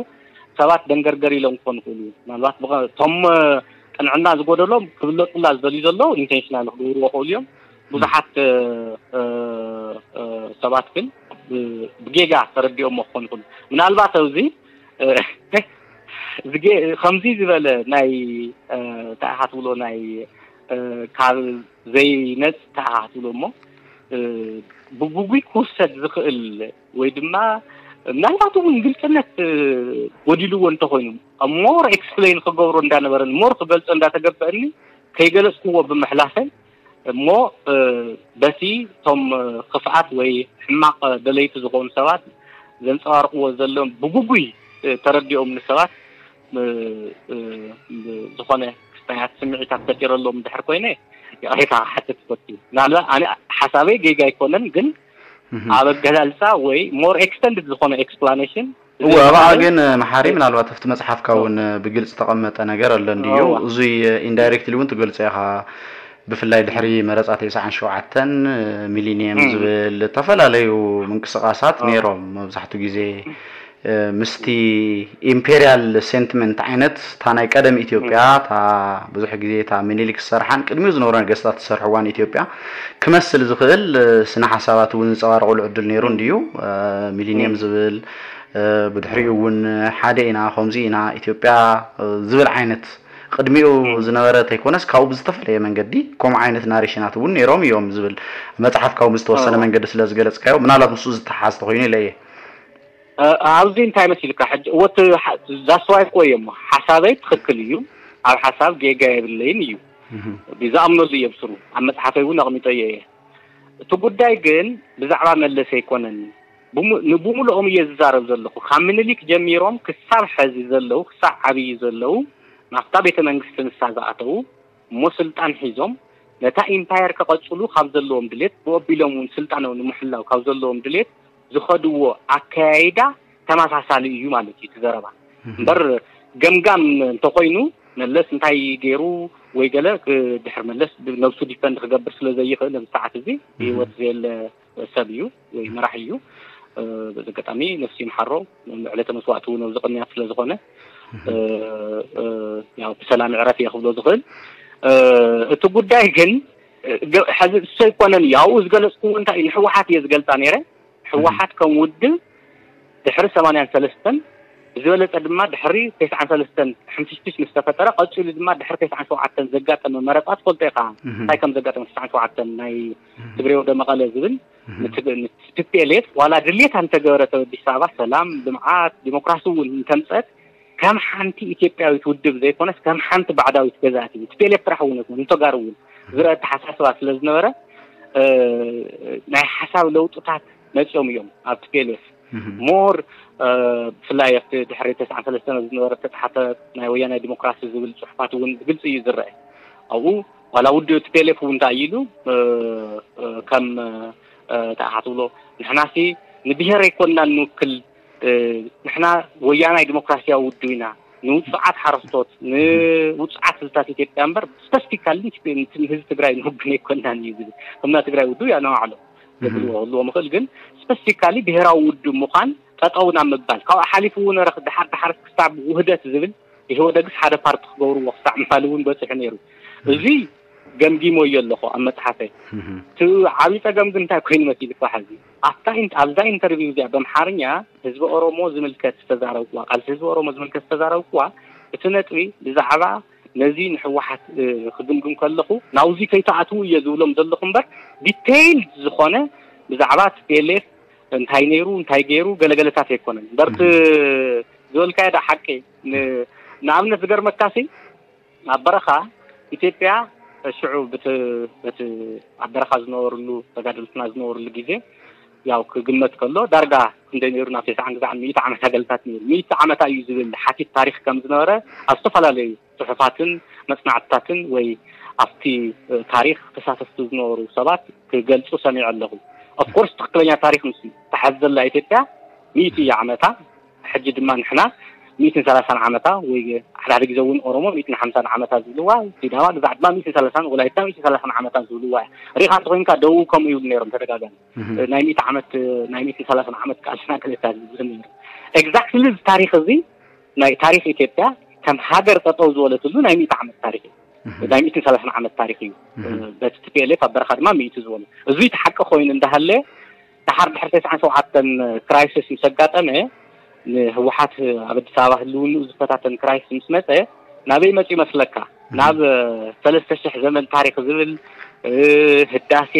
ሰባት ደንገርገር ኢሎም ክኾኑ ይኽእሉ። ምናልባት ብቐ-፣ እቶም፣ እ፣ ቅንዕና ዝጎደሎም ክብለጹላ ዝደልዩ ዘለዉ ኢንቴንሽናል ክገብርዎ ክኽእሉ እዮም። ብዙሓት፣ እ፣ እ፣ እ፣ ሰባት ግን ብ-፣ ብጌጋ ተረዲኦሞ ክኾኑ ይኽእሉ። ምናልባት ኣብዚ፣ እ፣ ዝጌ-፣ ከምዚ ዝበለ ናይ፣ እ፣ እንታይ ኢኻ ትብሎ፣ ናይ፣ እ፣ ካብ ዘይነጽ እንታይ ኢኻ ትብሎ እሞ፣ እ፣ ብግጉይ ክውሰድ ዝኽእል ወይ ድማ ምናልባት እውን ግልጽነት፣ እ፣ ጎዲልዎ እንተኾይኑ፣ ሞር ኤክስፕሌን ክገብሮ እንዳነበረኒ፣ ሞር ክገልጾ እንዳተገበአኒ፣ ከይገለጽክዎ ብምሕላፈይ፣ እሞ፣ እ፣ በቲ እቶም፣ እ፣ ክፍኣት ወይ ሕማቕ ደለይቲ ዝኾኑ ሰባት ዘንጸባርቕዎ ዘለዉ ብግጉይ፣ እ፣ ተረዲኦም ንሰባት፣ እ፣ እ፣ ዝኾነ ክስታያት ስምዒታት ፈጢረሎም እንድሕር ኮይነ፣ ይቕሬታ ክሓትት ይፈቱ። ምናልባት ኣነ ሓሳበይ ጌጋ ኣይኮነን፣ ግን ኣብ ኣገላልጻ ወይ ሞር ኤክስተንድድ ዝኾነ ኤክስፕላኔሽን እወ፣ ኣብኣ ግን፣ እ፣ መሓሪ፣ ምናልባት ኣብቲ መጽሓፍካ እውን፣ እ፣ ብግልጺ ተቐመጠ ነገር ኣሎ እንድዩ። እወ። እዙይ፣ እ፣ ኢንዳይሬክትሊ እውን ትገልጾ ኢኻ። ብፍላይ ድሕሪ መረጻ ተስዓን ሸውዓተን፣ እ፣ ሚሊኒየም ዝብል ዝተፈላለዩ ምንቅስቓሳት ነይሮም። መብዛሕትኡ ግዜ፣ እ፣ ምስቲ ኢምፔሪያል ሴንቲመንት ዓይነት፣ እታ ናይ ቀደም ኢትዮጵያ፣ እታ ብዙሕ ግዜ እታ ምኒልክ ዝሰርሓን ቅድሚኡ ዝነበሩ ነገስታት ዝሰርሕዋን ኢትዮጵያ ክመስል ዝኽእል፣ እ፣ ስነ ሓሳባት እውን ዝንጸባረቑሉ ዕድል ነይሩ እንድዩ። እ፣ ሚሊኒየም ዝብል፣ እ፣ ብድሕሪኡ እውን ሓደ ኢና፣ ከምዚ ኢና፣ ኢትዮጵያ፣ እ፣ ዝብል ዓይነት ቅድሚኡ ዝነበረ ተይኮነስ ካብኡ ብዝተፈለየ መንገዲ ከምኡ ዓይነት ናሬሽናት እውን ነይሮም እዮም ዝብል መጽሓፍ ካብኡ ብዝተወሰነ መንገዲ ስለ ዝገለጽካዮ፣ ምናልባት ምስኡ ዝተሓሓዝ ተኾይኑ ኢለ እየ። እ፣ ኣብዚ እንታይ መሲልካ ሕጂ፣ እወ፣ እቲ ሓ-፣ that's why እኮ እየ እሞ ሓሳበይ ትኽክል እዩ፣ ኣብ ሓሳብ ጌጋ የብለይን እዩ፣ ዝኣምነሉ እየ ብስሩ፣ ኣብ መጽሓፈይ እውን ኣቕሚጠዮ እየ። እቲ ጉዳይ ግን ብዛዕባ መለስ ኣይኮነን። ብሙ-፣ ንብሙሉኦም እየ ዝዛረብ ዘለኹ። ካብ ምኒልክ ጀሚሮም ክሳብ ሐዚ ዘለዉ፣ ክሳብ ዓብዪ ዘለዉ፣ ናብታ ቤተ መንግስቲ ንሳ ዝኣተዉ፣ እሞ ስልጣን ሒዞም ነታ ኢምፓየር ከቐጽሉ ካብ ዘለዎም ድሌት፣ ብኡ ኣቢሎም እውን ስልጣኖም ንምሕላው ካብ ዘለዎም ድሌት ዝኸድዎ ኣከያይዳ ተመሳሳሊ እዩ ማለት እዩ እቲ ዘረባ። እምበር ገምጋም እንተኾይኑ መለስ እንታይ ገይሩ ወይ ገለ ክ-፣ ድሕሪ መለስ ነብሱ ዲፈንድ ክገብር ስለ ዘይኽእል ኣብዚ ሰዓት እዚ ብህይወት ዘየለ ሰብ እዩ ወይ መራሒ እዩ። እ፣ በዚ ኣጋጣሚ ነፍሲ ይምሓሮ፣ ዕለተ መስዋእቲ እውን ኣብዚ ቅንያት ስለ ዝኾነ፣ እ፣ እ፣ ያው ብሰላም ዕረፍ እየ ክብሎ ዝኽእል። እ፣ እቲ ጉዳይ ግን፣ እ፣ ገ-፣ ሕዚ እሱ ኣይኮነን እዩ። ኣብኡ ዝገለጽኩዎ እንታይ እዩ፣ ንህወሓት እየ ዝገልጻ ነይረ። ህወሓት ከም ውድብ ድሕሪ ሰማንያን ሰለስተን፣ ብዝበለጸ ድማ ድሕሪ ተስዓን ሰለስተን ሕንፍሽፍሽ ምስ ተፈጠረ፣ ቀጺሉ ድማ ድሕሪ ተስዓን ሸውዓተን ዘጋጠመ መረጻ ትፈልጦ ኢኻ። እንታይ ከም ዘጋጠመ ተስዓን ሸውዓተን ናይ ትግሬ ወደ መቐለ ዝብል፣ ንትግ-፣ ንቲፒኤልኤፍ ዋላ ድሌታ እንተገበረት ኣብ ኣዲስ ኣበባ ሰላም፣ ልምዓት፣ ዲሞክራሲ እውን እንተምጸት፣ ከም ሓንቲ ኢትዮጵያዊት ውድብ ዘይኮነስ ከም ሓንቲ ባዕዳዊት ገዛእቲ፣ ንቲፒኤልኤፍ ጥራሕ እውን ኣይኮነን፣ ንተጋሩ እውን ዝረአ ኣተሓሳስባ ስለ ዝነበረ፣ እ፣ ናይ ሓሳብ ለውጥታት መጺኦም እዮም ኣብ ቲፒኤልኤፍ። ሞር ብፍላይ ኣብቲ ድሕሪ ተስዓን ሰለስተን ዝነበረ ተፃሓፈ ናይ ወያናይ ዲሞክራሲ ዝብል ፅሑፋት እውን ብግልፂ እዩ ዝረአ። ኣብኡ ዋላ ውድብ ቲ ፒ ኤል ኤፍ እውን እንታይ ኢሉ ከም እንታይ ኢኻ ትብሎ፣ ንሕናሲ ንብሄር ኣይኮንና ንውክል፣ ንሕና ወያናይ ዲሞክራሲያዊ ውድብ ኢና፣ ንውፁዓት ሓረስቶት፣ ንውፁዓት ህዝብታት ኢትዮጵያ እምበር ስፐሲፊካሊ ንህዝቢ ትግራይ ንውግን ኣይኮንናን እዩ ዝብል። ከምና ትግራይ ውድብ እያ ነባዕሎ ዘብልዎ ክህልዎ ምኽእል፣ ግን ስፐሲፊካሊ ብሄራዊ ውድብ ምዃን ጠጠው ናብ ምባል፣ ካብኡ ሓሊፉ እውን ረኽ-፣ ድሓር ድሓር ክሳብ ውህደት ዝብል ኢህወደግስ ሓደ ፓርቲ ክገብርዎ ክሳዕ ምባል እውን በፂሑ ነይሩ። እዚ ገምጊሞ እየ ኣለኹ ኣብ መፅሓፈይ። እቲ ዓብዪ ፀገም ግን እንታይ ኮይኑ መሲልካ ሕዚ ኣብታ ኢን-፣ ኣብዛ ኢንተርቪው እዚኣ በምሓርኛ ህዝቢ ኦሮሞ ዝምልከት ዝተዛረብኩዋ፣ ቃልሲ ህዝቢ ኦሮሞ ዝምልከት ዝተዛረብኩዋ፣ እቲ ነጥቢ ብዛዕባ ነዚ ንህወሓት ክግምግም ከለኹ ናብዚ ከይተኣትዉ እየ ዝብሎም ዘለኹ እምበር ዲቴይል ዝኾነ ብዛዕባ ቲ ፒ ኤል ኤፍ እንታይ ነይሩ እንታይ ገይሩ ገለገለታት ኣይኮነን እምበር እቲ ዝበልካዮ ዳ ሓቂ። ን-፣ ንኣብነት ዝገርመካሲ ኣብ በረኻ ኢትዮጵያ ሽዑ ብቲ-፣ በቲ ኣብ በረኻ ዝነበርሉ ተጋደልትና ዝነበርሉ ግዜ ያው ክግመት ከሎ ዳርጋ ክንደይ ነይሩ ናብ ተስዓን ግዛዕ ሚእቲ ዓመት ኣገልታት ነይሩ። ሚእቲ ዓመታ እዩ ዝብል ሓቲት ታሪኽ ከም ዝነበረ ኣብ ዝተፈላለዩ ጽሑፋትን መጽናዕትታትን ወይ ኣብቲ ታሪኽ ተሳተፍቲ ዝነበሩ ሰባት ክገልጹ ሰሚዐ ኣለኹ። ኦፍኮርስ ትኽክለኛ ታሪኽ ምስ ተሓዝ ዘላ ኢትዮጵያ ሚእቲ ዓመታ፣ ሕጂ ድማ ንሕና ሚእትን ሰላሳን ዓመታ ወይ ሓደ ሓደ ግዜ እውን ኦሮሞ ሚእትን ሓምሳን ዓመታ ዝብልዋ፣ ሲዳማ ግዛዕ ድማ ሚእትን ሰላሳን ወላይታ ሚእትን ሰላሳን ዓመታ ዝብልዋ እያ። ሪኻ እንተኾይንካ ደቡብ ከምኡ ይብሉ ነይሮም ተደጋጋሚ። ናይ ሚእቲ ዓመት ናይ ሚእትን ሰላሳን ዓመት ቃልስና ክልተ ዝብሉ ነይሩ። ኤግዛክትሊ እዚ ታሪኽ እዚ ናይ ታሪኽ ኢትዮጵያ ከም ሃገር ጠጠው ዝበለትሉ ናይ ሚእቲ ዓመት ታሪኽ እዩ። ናይ ሚእትን ሰላሳን ዓመት ታሪኽ እዩ። በቲ ቲ ፒ ኤል ኤፍ ኣብ በረኻ ድማ ሚእቲ ዝበሉ። እዚ እቲ ሓቂ ኮይኑ እንዳሃለ ድሓር ድሕሪ ተስዓን ሸውዓተን ክራይሲስ ምስ ኣጋጠመ ንህወሓት ኣብ ኣዲስ ኣበባ ህልውንኡ ዝፈታተን ክራይሲስ ምስ መፀ ናበይ መፂ ይመስለካ? ናብ ሰለስተ ሽሕ ዘመን ታሪኽ ዝብል ህዳሴ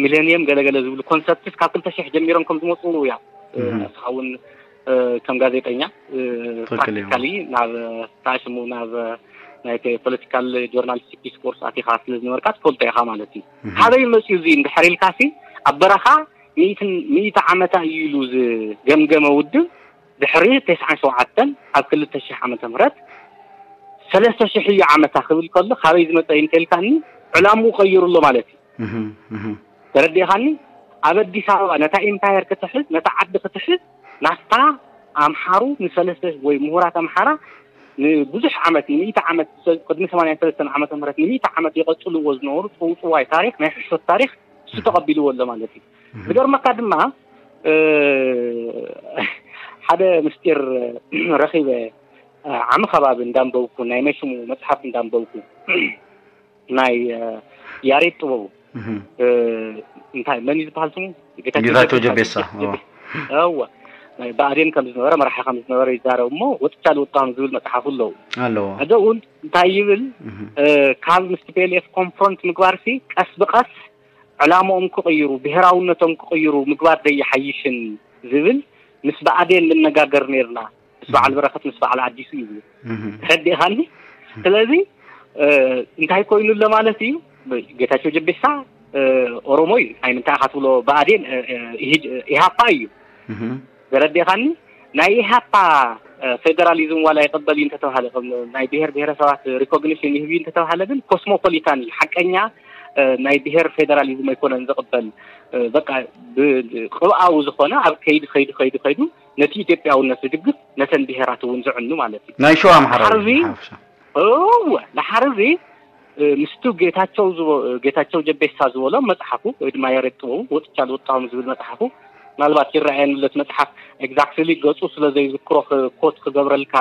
ሚሌኒየም ገለገለ ዝብሉ ኮንሰፕትስ ካብ ክልተ ሽሕ ጀሚሮም ከም ዝመፁ እያ። ንስኻ እውን ከም ጋዜጠኛ ፕራክቲካሊ ናብ ታሽሙ ናብ ናይ ፖለቲካል ጆርናሊስቲክ ዲስኮርስ ኣቲኻ ስለ ዝነበርካ ትፈልጦ ኢኻ ማለት እዩ። ካበይ መፅዩ እዚ እንድሕር ኢልካሲ ኣብ በረኻ ሚእትን ሚእቲ ዓመታ እዩ ኢሉ ዝገምገመ ውድብ ድሕሪ ተስዓን ሸውዓተን ኣብ ክልተ ሽሕ ዓመተ ምህረት ሰለስተ ሽሕ እዩ ዓመታ ክብል ከሎ ካበይ ዝመፀ እዩ እንተልካኒ ዕላምኡ ቀይሩ ኣሎ ማለት እዩ። ተረዲእኻኒ? ኣብ ኣዲስ ኣበባ ነታ ኢምፓየር ክትሕዝ ነታ ዓዲ ክትሕዝ ናፍታ ኣምሓሩ ንሰለስተ ወይ ምሁራት ኣምሓራ ንብዙሕ ዓመት ንሚእቲ ዓመት ቅድሚ ሰማንያን ሰለስተን ዓመተ ምህረት ንሚእቲ ዓመት የቐፅልዎ ዝነበሩ ፅውፅዋይ ታሪኽ ናይ ሕሾት ታሪኽ እሱ ተቐቢልዎ ኣሎ ማለት እዩ። ዝገርመካ ድማ ሓደ ምስጢር ረኺበ ዓሚ ከባቢ እንዳንበብኩ ናይ መሽሙ መፅሓፍ እንዳንበብኩ ናይ ያሬድ ጥበቡ እንታይ መን እዩ ዝበሃል ስሙ? ጌታቸው ጀቤሳ። እወ ናይ ብኣዴን ከም ዝነበረ መራሒ ከም ዝነበረ ይዛረብ እሞ ወጥቻ ልወጣም ዝብል መፅሓፉ ኣለዉ ኣለዎ። ሕዚ እውን እንታይ ይብል ካብ ምስ ቲ ፒ ኤል ኤፍ ኮንፍሮንት ምግባርሲ ቀስ ብቀስ ዕላምኦም ክቕይሩ ብሄራውነቶም ክቕይሩ ምግባር ደይሓይሽን ዝብል ምስ ብኣዴን ንነጋገር ነርና ምስ በዓል በረኸት ምስ በዓል ኣዲሱ እዩ ዝብል ተረዲእኻኒ። ስለዚ እንታይ ኮይኑ ኣሎ ማለት እዩ? ጌታቸው ጀቤሳ ኦሮሞ እዩ። ናይ ምንታይ ኢኻ ትብሎ ብኣዴን ኢሃፓ እዩ። ተረዲእኻኒ? ናይ ኢሃፓ ፌደራሊዝም ዋላ ይቕበል እዩ እንተተባሃለ ናይ ብሄር ብሄረሰባት ሪኮግኒሽን ይህብ እዩ እንተተባሃለ ግን ኮስሞፖሊታን እዩ። ሓቀኛ ናይ ብሄር ፌደራሊዝም ኣይኮነን ዝቕበል። በቃ ቅብኣዊ ዝኾነ ኣብ ከይዲ ከይዲ ከይዲ ከይዱ ነቲ ኢትዮጵያውነት ዝድግፍ ነተን ብሄራት እውን ዝዕኑ ማለት እዩ። ናይ ሸዋ ኣምሓራ እዩ ሓርዚ ዝሓፍሻ። እወ ድሓር እዚ ምስቱ ጌታቸው ዝቦ ጌታቸው ጀቤሳ ዝበሎ መጽሓፉ ወይ ድማ ያሬድ ጥበቡ ወጥቻ ልወጣሁም ዝብል መጽሓፉ ምናልባት ይረኣየኒ ለት መጽሓፍ ኤግዛክትሊ ገጹ ስለ ዘይዝክሮ ኮት ክገብረልካ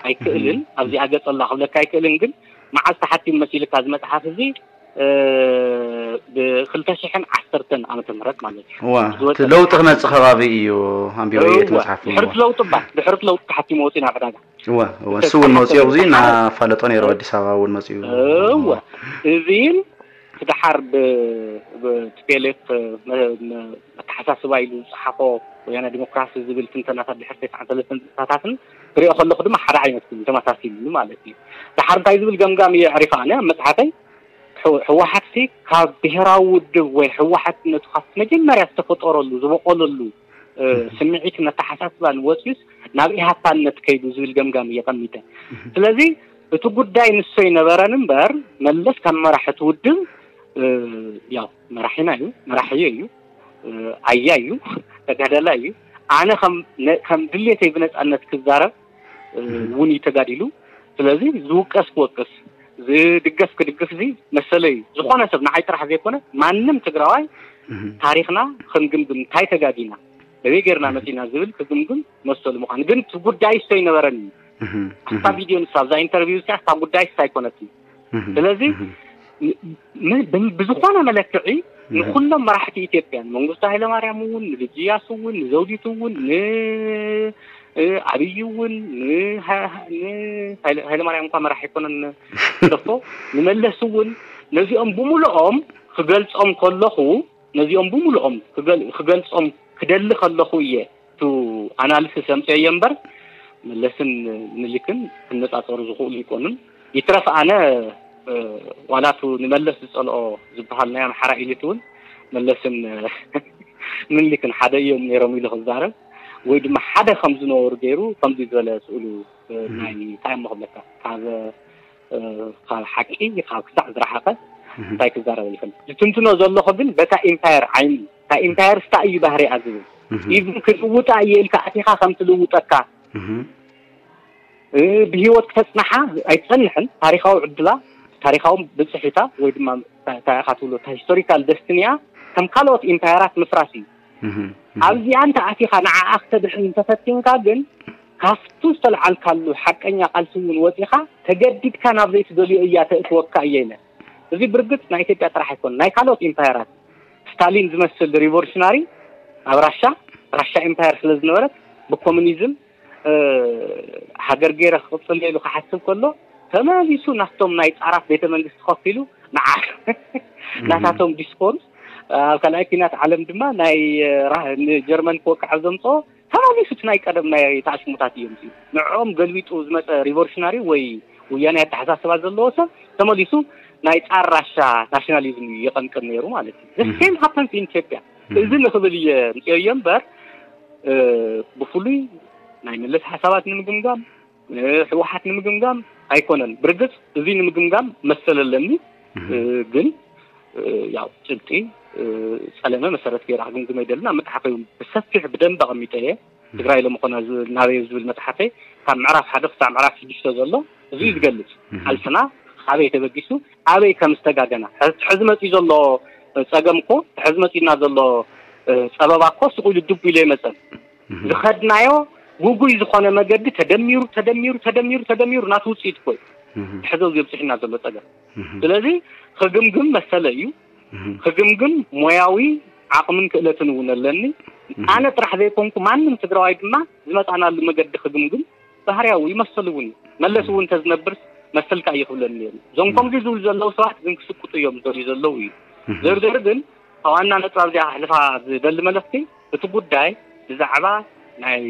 ኣይክእልን ኣብዚኣ ገጸላ ክብለካ ኣይክእልን ግን መዓዝ ተሓቲም መሲልካ እዚ መጽሓፍ እዚ ብክልተ ሽሕን ዓሰርተን ዓመተ ምህረት ማለት እዩ ዋ ዝወጸ እቲ ለውጢ መጽሓፍ። ክመጽእ ከባቢ እዩ ኣንቢበዮ እቲ እወ፣ መጽሓፍ ድሕሪ እወ። እቲ ለውጢ እባ ድሕሪ እቲ ለውጢ ተሓቲሙ ወፂኡ ናብ ዕዳጋ እወ እወ እሱ እውን መፅኡ ኣብዚ እናፋለጦ ነይሩ ኣዲስ ኣበባ እውን መፅኡ እወ እዚን እቲ ደሓር ብቲፒኤልኤፍ ኣተሓሳስባ ኢሉ ዝፀሓፎ ወያነ ዲሞክራሲ ዝብል ትንተናታት ድሕር ተስዓን ሰለስተን ዝፅታታትን ክሪኦ ከለኩ ድማ ሓደ ዓይነት ኮይኑ ተመሳሲሉ ማለት እዩ። ደሓር እንታይ ዝብል ገምጋም እየ ኣዕሪፈ ኣነ ኣብ መፅሓፈይ ህወሓትሲ ካብ ብሄራዊ ውድብ ወይ ህወሓትነቱ ካብ መጀመርያ ዝተፈጠረሉ ዝበቆለሉ ስምዒትን ኣተሓሳስባን ወፂኡስ ናብ ኢሃፓነት ከይዱ ዝብል ገምጋም እየ ቀሚጠ። ስለዚ እቲ ጉዳይ ንሶ ይነበረን እምበር፣ መለስ ካብ መራሕቲ ውድብ ያው መራሒና እዩ፣ መራሒዮ እዩ፣ ኣያ እዩ፣ ተጋዳላይ እዩ። ኣነ ከም ድሌተይ ብነፃነት ክዛረብ እውን እዩ ተጋዲሉ። ስለዚ ዝውቀስ ክወቅስ፣ ዝድገፍ ክድግፍ እዚ መሰለይ እዩ። ዝኾነ ሰብ ንዓይ ጥራሕ ዘይኮነ ማንም ትግራዋይ ታሪኽና ክንግምግም፣ እንታይ ተጋጊና፣ በበይ ጌርና መፂና ዝብል ክግምግም መሰሉ ምዃኑ። ግን እቲ ጉዳይ እሱ ኣይነበረን እዩ። ኣብታ ቪድዮ ንሳ ኣብዛ ኢንተርቪው እዚኣ እታ ጉዳይ እሱ ኣይኮነትን። ስለዚ ብዝኾነ መለክዒ ንኩሎም መራሕቲ ኢትዮጵያ፣ ንመንግስቱ ሃይለማርያም እውን፣ ንልጅያስ እውን፣ ንዘውዲቱ እውን፣ ንኣብይ እውን፣ ንሃይለማርያም እንኳ መራሕ ኣይኮነን፣ ንደፎ፣ ንመለስ እውን፣ ነዚኦም ብምልኦም ክገልጾም ከለኹ፣ ነዚኦም ብምልኦም ክገልጾም ክደሊ ከለኹ እየ ቱ ኣናሊሲስ ኣምፅኦዮ እምበር፣ መለስን ምኒልክን ክነፃፀሩ ዝኽእሉ ይኮኑን። ይትረፍ ኣነ ዋላ ቱ ንመለስ ዝፀልኦ ዝበሃል ናይ ኣምሓራ ኢሊት እውን መለስን ምኒልክን ሓደ እዮም ነይሮም ኢሉ ክዛረብ፣ ወይ ድማ ሓደ ከም ዝነበሩ ገይሩ ከምዚ ዝበለ ስእሉ ናይ እንታይ እሞ ክብለካ፣ ካብ ካብ ሓቂ ካብ ክሳዕ ዝረሓቐ እንታይ ክዛረብ ይኽእል። ዝትንትኖ ዘለኹ ግን በታ ኢምፓየር ዓይኒ፣ እታ ኢምፓየር ስታ እዩ ባህሪኣ ዝብል። ኢቭን ክልውጣ እየ ኢልካ ኣቲኻ ከም ትልውጠካ፣ ብህይወት ክተፅናሓ ኣይትፀንሕን። ታሪኻዊ ዕድላ፣ ታሪኻዊ ብፅሒታ፣ ወይ ድማ እንታይ ኢኻ ትብሎ፣ እታ ሂስቶሪካል ደስትኒያ ከም ካልኦት ኢምፓየራት ምፍራስ እዩ። ኣብዚኣ እንተ ኣቲኻ ንዓኣ ክተድሕን እንተፈቲንካ ግን ካብቱ ዝተልዓልካሉ ሓቀኛ ቃልሲ እውን ወፂኻ ተገዲድካ ናብ ዘይትደልዮ እያ ተእትወካ እየ ኢለ። እዚ ብርግፅ ናይ ኢትዮጵያ ጥራሕ ኣይኮነ፣ ናይ ካልኦት ኢምፓየራት፣ ስታሊን ዝመስል ሪቮሉሽናሪ ኣብ ራሻ፣ ራሻ ኢምፓየር ስለ ዝነበረት ብኮሙኒዝም ሃገር ገይረ ክቕፅል ኢሉ ክሓስብ ከሎ ተመሊሱ ናፍቶም ናይ ፃራት ቤተ መንግስቲ ከፊሉ ንዓ ናታቶም ዲስኮርስ ኣብ ካልኣይ ኲናት ዓለም ድማ ናይ ንጀርመን ክወቅዕ ዘምፅኦ ተመሊሱ እቲ ናይ ቀደም ናይ ተኣሽሙታት እዮም። ንዕኦም ገልቢጡ ዝመፀ ሪቮሉሽናሪ ወይ ወያናይ ኣተሓሳስባ ዘለዎ ሰብ ተመሊሱ ናይ ፃር ራሻ ናሽናሊዝም እዩ የቐንቅን ነይሩ ማለት እዩ። ሴም ሃፐንስ ኢን ኢትዮጵያ። እዚ ንክብል እየ ምፅኦዮ እምበር ብፍሉይ ናይ መለስ ሓሳባት ንምግምጋም፣ ህወሓት ንምግምጋም ኣይኮነን። ብርግፅ እዚ ንምግምጋም መሰል ኣለኒ፣ ግን ያው ጭብጢ ፀለመ መሰረት ገይረ ክግምግም ኣይደልን። ኣብ መፅሓፈይ እውን ብሰፊሕ ብደንብ ኣቐሚጠ እየ። ትግራይ ሎሚ ኮነ ናበይ ዝብል መፅሓፈይ ካብ ምዕራፍ ሓደ ክሳብ ምዕራፍ ሽዱሽተ ዘሎ እዚ እዩ ዝገልፅ። ቃልስና ኣበይ ተበጊሱ ኣበይ ከም ዝተጋገና፣ ሕዚ መፂኡ ዘሎ ፀገም እኮ፣ ሕዚ መፂኡና ዘሎ ፀበባ እኮ ስቕ ኢሉ ድቡ ኢሉ ኣይመፀን። ዝኸድናዮ ጉጉይ ዝኾነ መገዲ ተደሚሩ ተደሚሩ ተደሚሩ ተደሚሩ ናቱ ውፅኢት እኮ እዩ ሕዚ ኣብዚ ኣብፅሒና ዘሎ ፀገም። ስለዚ ክግምግም መሰለ እዩ። ክግምግም ሞያዊ ዓቕምን ክእለትን እውን ኣለኒ። ኣነ ጥራሕ ዘይኮንኩ ማንም ትግራዋይ ድማ ዝመፃናሉ መገዲ ክግምግም ባህርያዊ ይመስል እውን እዩ። መለስ እውን እንተዝነብርስ መሰልካ እዩ ክብለኒ ነይሩ። እዞም ከምዚ ዝብሉ ዘለዉ ሰባት ግን ክስቅጡ እዮም ዝደልዩ ዘለዉ እዩ። ዘርዘር ግን ካብ ዋና ነጥብ ኣብዚኣ ክሕልፋ ዝደሊ መልእኽቲ፣ እቲ ጉዳይ ብዛዕባ ናይ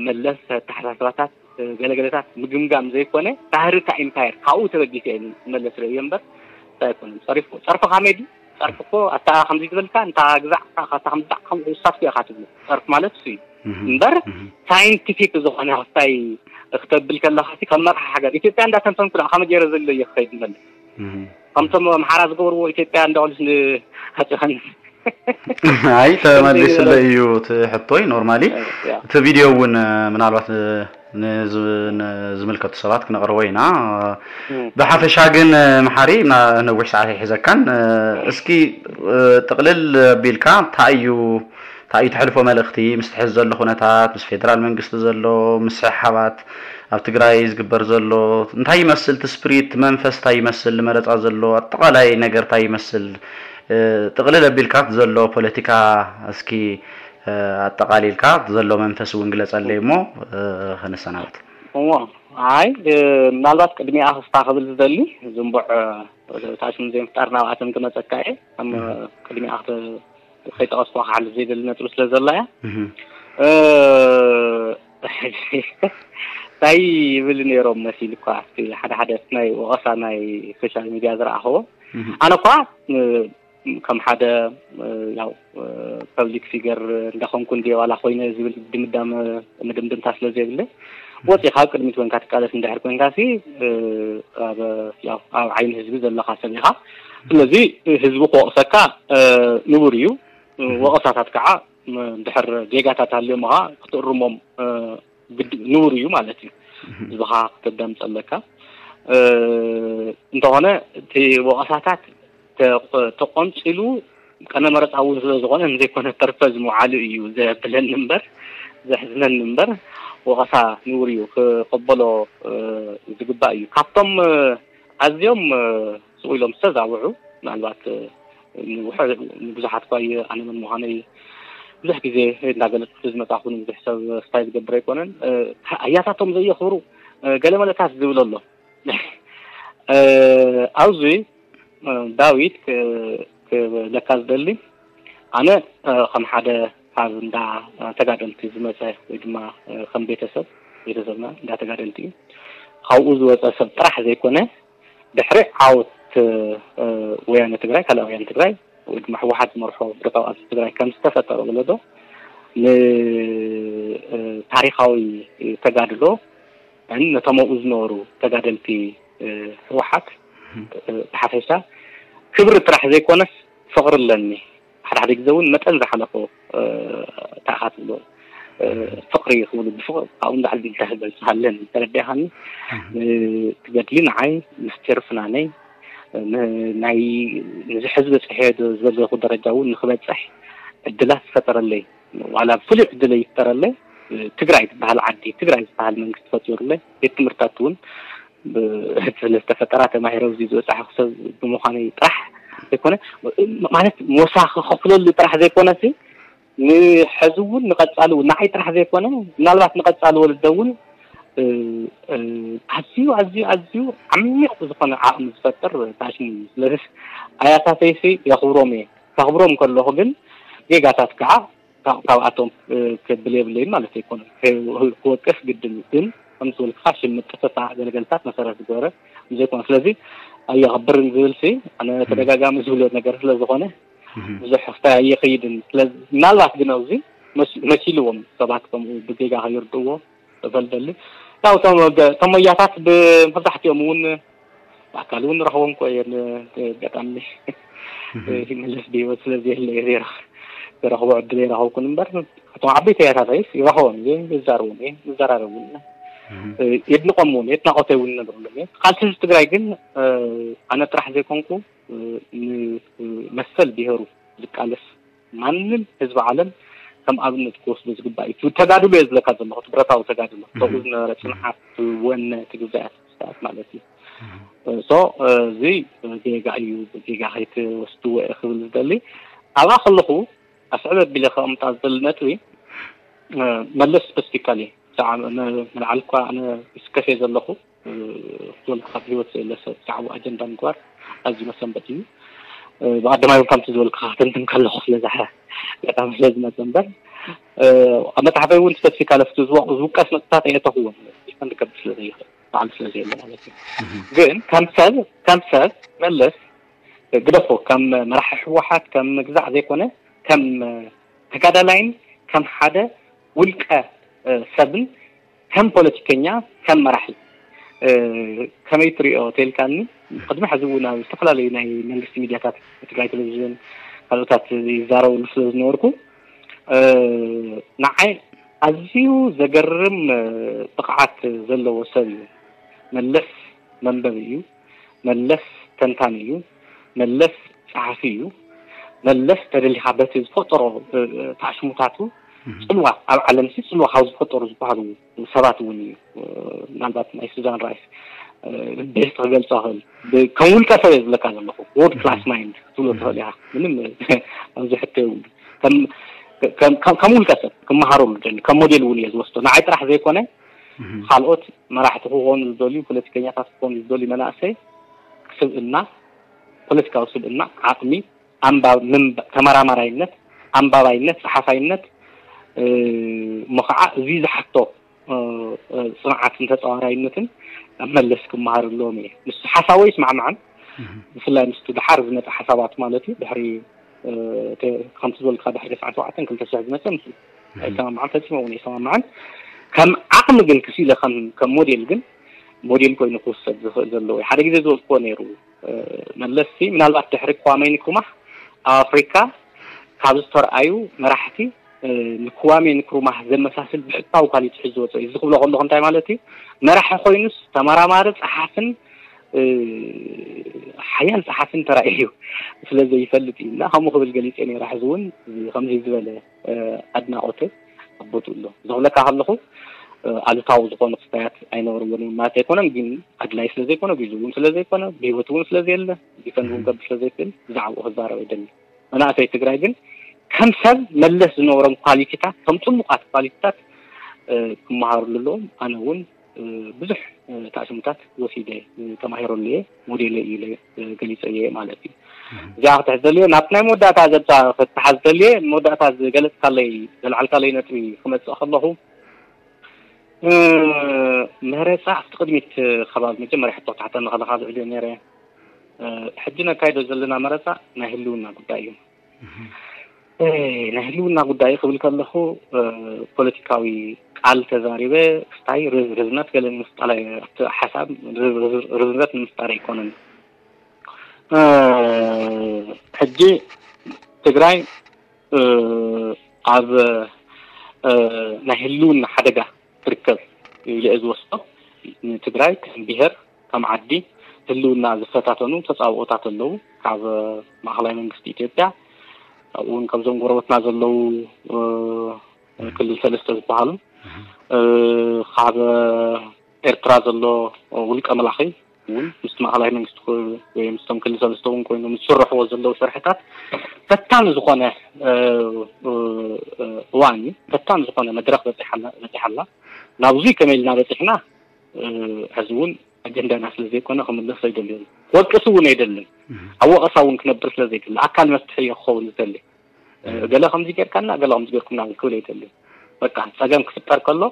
መለስ ኣተሓሳስባታት ገለገለታት ምግምጋም ዘይኮነ፣ ባህሪ እታ ኢምፓየር ካብኡ ተበጊሰ እየ መለስ ርእዮ እምበር እንታይ ኣይኮነን። ፀሪፉ ፀርፊ ካሜዲ፣ ፀርፊ እኮ ኣታ ከምዚ ዝበልካ እንታ ግዛዕ ካታ ከምዛዕ ከም ውሳት እያ ካትብሉ። ፀርፊ ማለት እሱ እዩ እምበር ሳይንቲፊክ ዝኾነ ክስታይ ክተብል ከለኻ ከም መርሓ ሃገር ኢትዮጵያ እንዳተንተንኩ ደኣ ከመ ገይረ ዘሎ እየ ክኸይድ መለስ ከምቶም ኣምሓራ ዝገበርዎ ኢትዮጵያ እንዳበሉስ ንሃፀኸን ኣይ ተመሊስለ እዩ እቲ ሕቶይ። ኖርማሊ እቲ ቪድዮ እውን ምናልባት ንዝምልከቱ ሰባት ክነቕርቦ ኢና። ብሓፈሻ ግን መሓሪ ነዊሕ ሰዓት ኣይሕዘካን። እስኪ ጥቕልል ኣቢልካ እንታይ እዩ እንታይ እዩ ተሕልፎ መልእኽቲ ምስ ትሕዝ ዘሎ ኩነታት ምስ ፌደራል መንግስቲ ዘሎ ምስሕሓባት ኣብ ትግራይ ዝግበር ዘሎ እንታይ ይመስል እቲ ስፕሪት መንፈስ እንታይ ይመስል መረፃ ዘሎ ኣጠቓላይ ነገር እንታይ ይመስል ጥቕልል ኣቢልካ ዘሎ ፖለቲካ እስኪ ኣጠቓሊልካ ዘሎ መንፈስ እውን ግለፀለይ እሞ ከነሰናበት። እሞ ኣይ ምናልባት ቅድሚኣ ክስታ ክብል ዝደሊ ዝንቡዕ ታሽም ዘይምፍጣር ናብኣተን ክመፀካ እየ። ቅድሚኣ ከይጠቐስኩ ክሓልፍ ዘይደሊ ነጥቢ ስለ ዘላ እያ። እንታይ ይብል ነይሮም መሲል እኳ ሓደ ሓደ ናይ ወቐሳ ናይ ሶሻል ሚድያ ዝረኣኽዎ ኣነ እኳ ከም ሓደ ያው ፐብሊክ ፊገር እንዳኾንኩ እንዲ ዋላ ኮይነ ዝብል ድምዳመ፣ ምድምድምታ ስለ ዘይብለ፣ ወፂኻ ኣብ ቅድሚት ኮንካ ትቃለስ እንድሕር ኮንካ ሲ፣ ኣብ፣ ያው፣ ኣብ ዓይኒ ህዝቢ ዘለኻ ሰብ ኢኻ። ስለዚ ህዝቢ ክወቕሰካ ንቡር እዩ። ወቐሳታት ከዓ ድሕር ጌጋታት ሃልዮም ኻ ክትእርሞም ግድ ንቡር እዩ ማለት እዩ። ህዝብኻ ክተዳምፅ ኣለካ። እንተኾነ እቲ ወቐሳታት ተቆንፂሉ ቀነ መረፃ እውን ስለ ዝኾነ ንዘይኮነ ፐርፐዝ ምውዓሉ እዩ ዘብለኒ እምበር፣ ዘሕዝነኒ እምበር፣ ወቐሳ ንቡር እዩ፣ ክቐበሎ ዝግባእ እዩ። ካብቶም ኣዝዮም ስቕ ኢሎም ዝተዛውዑ፣ ምናልባት ንብዙሓት እኳ ኣነ መን ምዃነይ ብዙሕ ግዜ እንዳገለፅኩ ዝመፃኹ፣ ንብዙሕ ሰብ ስታይ ዝገብር ኣይኮነን። ኣያታቶም ዘየኽብሩ ገለ መለታት ዝብል ኣሎ። ኣብዚ ዳዊት ክብለካ ዝደሊ፣ ኣነ ከም ሓደ ካብ እንዳ ተጋደልቲ ዝመፀ ወይ ድማ ከም ቤተሰብ፣ ቤተሰብና እንዳ ተጋደልቲ እዩ። ካብኡ ዝወፀ ሰብ ጥራሕ ዘይኮነ፣ ድሕሪ ዓወት ወያነ ትግራይ፣ ካልእ ወያነ ትግራይ ወይ ድማ ህወሓት ዝመርሖ ብረታዊ ቃልሲ ትግራይ ከም ዝተፈጠረ ወለዶ ንታሪኻዊ ተጋድሎ ነቶም ኣብኡ ዝነበሩ ተጋደልቲ ህወሓት ብሓፈሻ ክብሪ ጥራሕ ዘይኮነስ ፍቕሪ ኣለኒ። ሓደ ሓደ ግዜ እውን መጠን ዝሓለፎ ታእኻ ትብሎ ፍቕሪ ክብሉ ብፍቕሪ ካብኡ ንላዕሊ ኢልካ ክገልጽ ሃለን ተረዲእኻኒ። እቲ ገድሊ ንዓይ ምስጢር ፍናነይ ናይ ንዚ ሕዚ በጽሐ ዶ ዝበለኹ ደረጃ እውን ንክበጽሕ ዕድላት ዝፈጠረለይ ዋላ ፍሉይ ዕድል ይፍጠረለይ። ትግራይ ዝበሃል ዓዲ ትግራይ ዝበሃል መንግስቲ ፈጢሩለይ ቤት ትምህርታት እውን ስለ ዝተፈጠራ ተማሂረ ኣብዚ ዝበፃሕኩ ሰብ ብምዃነይ ጥራሕ ዘይኮነ ማለት ሞሳ ክኸፍለሉ ጥራሕ ዘይኮነሲ ንሐዚ እውን ንቐፃሊ እውን ንዓይ ጥራሕ ዘይኮነ ምናልባት ንቐፃሊ ወለዶ እውን ኣዝዩ ኣዝዩ ኣዝዩ ዓሚቕ ዝኾነ ዓቕሚ ዝፈጥር ታሽን እዩ። ስለዚ ኣያታተይሲ የኽብሮም እየ። ከኽብሮም ከለኹ ግን ጌጋታት ከዓ ካብኣቶም ክብል የብለይን ማለት ኣይኮነን። ክወቅስ ግድን እዩ። ግን ከምቲ ዝበልካ ሽም ምጥፍፋ ገለገልታት መሰረት ዝገበረ ዘይኮነ። ስለዚ ኣየኽብርን ዝብል ሲ ኣነ ተደጋጋሚ ዝብሎ ነገር ስለ ዝኾነ ብዙሕ ክስታይ ኣይኸይድን። ስለዚ ምናልባት ግን ኣብዚ መሲልዎም ሰባት ከምኡ ብጌጋ ከይርድእዎ እፈልደሊ። ያው እቶም ሞያታት ብመብዛሕትኦም እውን ብኣካል እውን ረኽቦም እኮ እየ ኣጋጣሚ ይመለስ ብህይወት ስለ ዘየለ እየ ዘይረኽ- ዝረኽቦ ዕድል ኣይረኸብኩን እምበር እቶም ዓበይቲ ያታታይስ ይረኽቦም እየ ይዛረቦም እየ ይዘራረቡ እውን የድንቆም እውን የድናቆተይ እውን ይነግረሎም እየ። ቃልሲ ህዝቢ ትግራይ ግን ኣነ ጥራሕ ዘይኮንኩ ንመሰል ብሄሩ ዝቃለስ ማንም ህዝቢ ዓለም ከም ኣብነት ክወስዶ ዝግባእ እዩ። ተጋድሎ እየ ዝብለካ ዘለኹ፣ እቲ ብረታዊ ተጋድሎ ተኡ ዝነበረ ፅንዓት፣ ወነ፣ ትግዛያት ስርዓት ማለት እዩ። ሶ እዚ ጌጋ እዩ፣ ጌጋ ከይትወስድዎ እየ ክብል ዝደሊ። ኣብኣ ከለኹ ኣስዕብ ኣቢለ ከቕምጣ ዝደሊ ነጥቢ መለስ ስፐሲፊካሊ ንልዓሊ እኳ ኣነ ይስከፍ እየ ዘለኹ። ዝወልካ ካብ ህይወት ዘየለ ሰብ ብዛዕባ ኣጀንዳ ምግባር ኣዝዩ መሰንበት እዩ። ብቀዳማይ እውን ከምቲ ዝበልካ ክትንትን ከለኹ ስለዝሓ ኣጋጣሚ ስለ ዝመፀ እምበር ኣብ መፅሓፈይ እውን ስፐሲፊካ ለፍቲ ዝውቀስ ነጥብታት ኣየተኽዎን ዲፈንድ ከብል ስለ ዘይኽእል ባዕሉ ስለ ዘየለ ማለት እዩ። ግን ከም ሰብ ከም ሰብ መለስ ግደፎ ከም መራሒ ህወሓት ከም ምግዛዕ ዘይኮነ ከም ተጋዳላይን ከም ሓደ ውልቀ ሰብን ከም ፖለቲከኛ ከም መራሒ ከመይ ትሪኦ ተልካኒ? ቅድሚ ሕዚ እውን ኣብ ዝተፈላለዩ ናይ መንግስቲ ሚድያታት ትግራይ ቴሌቪዥን ካልኦታት ይዛረብሉ ስለ ዝነበርኩ ንዓይ ኣዝዩ ዘገርም ብቕዓት ዘለዎ ሰብ እዩ። መለስ መንበቢ እዩ። መለስ ተንታኒ እዩ። መለስ ጸሓፊ እዩ። መለስ ተደሊኻ በቲ ዝፈጠሮ ታሽሙታቱ ፅልዋ ኣብ ዓለም ሲ ፅልዋ ካብ ዝፈጠሩ ዝበሃሉ ሰባት እውን እዩ። ምናልባት ናይ ሱዛን ራይስ ቤስት ክገልፆ ክእል ከም ውልቀ ሰብ እየ ዝብለካ ዘለኹ። ወርድ ክላስ ማይንድ ክትብሎ ትኽእል ኢኻ። ምንም ኣብዚ ሕቶ የብሉ። ከም ውልቀ ሰብ ክመሃረሉ ደሊ ከም ሞዴል እውን እየ ዝወስዶ። ንዓይ ጥራሕ ዘይኮነ ካልኦት መራሕቲ ክኾኑ ዝደልዩ ፖለቲከኛታት ክኾኑ ዝደልዩ መናእሰይ ስብእና ፖለቲካዊ ስብእና ዓቕሚ ተመራማራይነት ኣንባባይነት ጸሓፋይነት እሞ ከዓ እዚ ዝሓቶ ፅንዓትን ተፃዋራይነትን ኣብ መለስ ክመሃር ኣለዎም እየ። ምስ ሓሳቦ ይስማዕማዕን ብፍላይ ምስቲ ድሓር ዝመፀ ሓሳባት ማለት እዩ ድሕሪ ከምቲ ዝበልካ ድሕሪ ሰዓት ሸውዓተን ክልተ ሽሕ ዝመፀ ምስ ኣይሰማማዕን፣ ፈፂመ እውን ኣይሰማማዕን። ከም ዓቕሚ ግን ክሲለ ከም ሞዴል ግን ሞዴል ኮይኑ ክውሰድ ዝኽእል ዘለዎ ሓደ ግዜ ዝበልክዎ ነይሩ። መለስሲ ምናልባት ድሕሪ ክዋሜ ንክሩማህ ኣብ ኣፍሪካ ካብ ዝተረኣዩ መራሕቲ ንክዋሜ ንክሩማህ ዘመሳስል ብሕታዊ ኳሊቲ ሒዙ ዝወፀ እዩ። እዚ ክብሎ ከለኹ እንታይ ማለት እዩ? መራሒ ኮይኑስ ተመራማሪ፣ ፀሓፍን ሓያል ፀሓፍን ተራእዩ ስለ ዘይፈልጥ እዩ። እና ከምኡ ክብል ገሊፀ ነይረ። ሕዚ እውን ከምዚ ዝበለ ኣድናቆት ኣቦቱ ኣሎ። ዘብለካ ከለኹ ኣሉታዊ ዝኾኑ ክስታያት ኣይነበርዎን ማለት ኣይኮነን፣ ግን ኣድላይ ስለ ዘይኮነ፣ ግዜ እውን ስለ ዘይኮነ፣ ብህይወት እውን ስለ ዘየለ፣ ዲፈንድ እውን ገብር ስለ ዘይክእል ብዛዕባኡ ክዛረብ ኣይደልን። መናእሰይ ትግራይ ግን ከም ሰብ መለስ ዝነበሮም ኳሊቲታት፣ ከም ፅቡቃት ኳሊቲታት ክመሃርሉ ኣለዎም። ኣነ እውን ብዙሕ ታዕስምታት ወሲደ ተማሂረሉ እየ፣ ሞዴለ እዩ ኢለ ገሊፀ እየ ማለት እዩ። እዚኣ ክትሕዘልዮ ናብ ናይ መወዳእታ ዘብፃ ክትሓዝ ዘልየ መወዳእታ ዝገለፅካለይ ዘልዓልካለይ ነጥቢ ክመፅእ ከለኹ መረፃ ኣብቲ ቅድሚት ከባቢ መጀመርያ ሕቶ ክትሓተኒ ከለካ ዝዕልዮ ነይረ። ሕጂ ነካይዶ ዘለና መረፃ ናይ ህልውና ጉዳይ እዩ። ናይ ህልውና ጉዳይ ክብል ከለኹ ፖለቲካዊ ቃል ተዛሪበ ክስታይ ርዝነት ገለ ንምፍጣር፣ ሓሳብ ርዝነት ንምፍጣር ኣይኮነን። ሕጂ ትግራይ ኣብ ናይ ህልውና ሓደጋ ትርከብ ኢለ ዝወስዶ። ንትግራይ ከም ብሄር ከም ዓዲ ህልውና ዝፈታተኑ ተፃብኦታት ኣለዉ። ካብ ማእኸላይ መንግስቲ ኢትዮጵያ፣ ካብኡ እውን ካብዞም ጎረበትና ዘለዉ ክልል ሰለስተ ዝበሃሉ፣ ካብ ኤርትራ ዘሎ ውልቀ መላኺ እውን ምስ ማእኸላይ መንግስቲ ወይ ምስቶም ክልል ሰለስተ እውን ኮይኖም ዝስርሕዎ ዘለዉ ስርሕታት ፈታኒ ዝኾነ እዋን እዩ። ፈታኒ ዝኾነ መድረክ በፂሓላ። ናብዙይ ከመይ ኢልና በፂሕና? ሕዚ እውን ኣጀንዳና ስለ ዘይኮነ ክምለስ ኣይደልዮን። ክወቅስ እውን ኣይደልን። ኣብ ወቀሳ እውን ክነብር ስለ ዘይደሊ ኣካል መፍትሒ እየ ክኸውን ዝደሊ። ገለ ከምዚ ጌርካና፣ ገለ ከምዚ ጌርኩምና ክብል ኣይደልን። በቃ ፀገም ክፍጠር ከሎ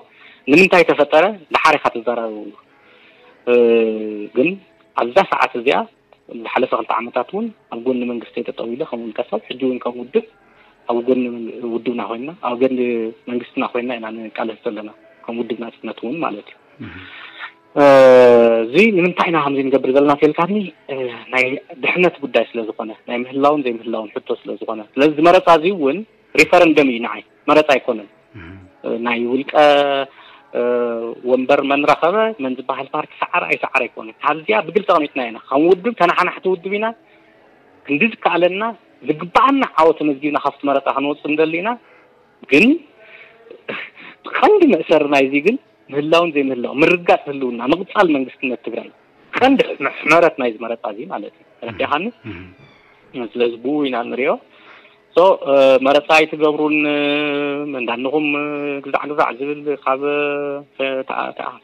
ንምንታይ ተፈጠረ ደሓር ኢኻ ትዘራረብሉ። ግን ኣብዛ ሰዓት እዚኣ ዝሓለፈ ክልተ ዓመታት እውን ኣብ ጎኒ መንግስቲ ጠጠው ኢለ ከም ውልቀ ሰብ፣ ሕጂ እውን ከም ውድብ ኣብ ጎኒ ውድብና ኮይና፣ ኣብ ጎኒ መንግስትና ኮይና ኢና ንቃለስ ዘለና፣ ከም ውድብ ናፅነት እውን ማለት እዩ። እዚ ንምንታይ ኢና ከምዚ ንገብር ዘለና ተልካኒ፣ ናይ ድሕነት ጉዳይ ስለ ዝኾነ፣ ናይ ምህላውን ዘይምህላውን ሕቶ ስለ ዝኾነ፣ ስለዚ መረፃ እዚ እውን ሪፈረንደም እዩ ንዓይ፣ መረፃ ኣይኮነን። ናይ ውልቀ ወንበር መን ረኸበ መን ዝበሃል ፓርቲ ሰዓረ ኣይሰዓረ ኣይኮነን። ካብዚኣ ብግልፂ ኣቕሚጥና ኢና። ከም ውድብ ተናሓናሕቲ ውድብ ኢና። ክንዲ ዝከኣለና ዝግባኣና ዓወት ተመዝጊብና ካብቲ መረፃ ክንወፅእ ንደሊ ኢና። ግን ቀንዲ መእሰሪ ናይዚ ግን ምህላውን ዘይምህላው፣ ምርጋፅ ህልውና፣ ምቕፃል መንግስትነት ትግራይ ቀንዲ ሕመረት ናይዚ መረፃ እዚ ማለት እዩ። ተረዲእካኒ? ስለዚ ብኡ ኢና ንሪኦ። መረፃ ኣይትገብሩን፣ መንዳንኹም ግዛዕ ግዛዕ ዝብል ካብ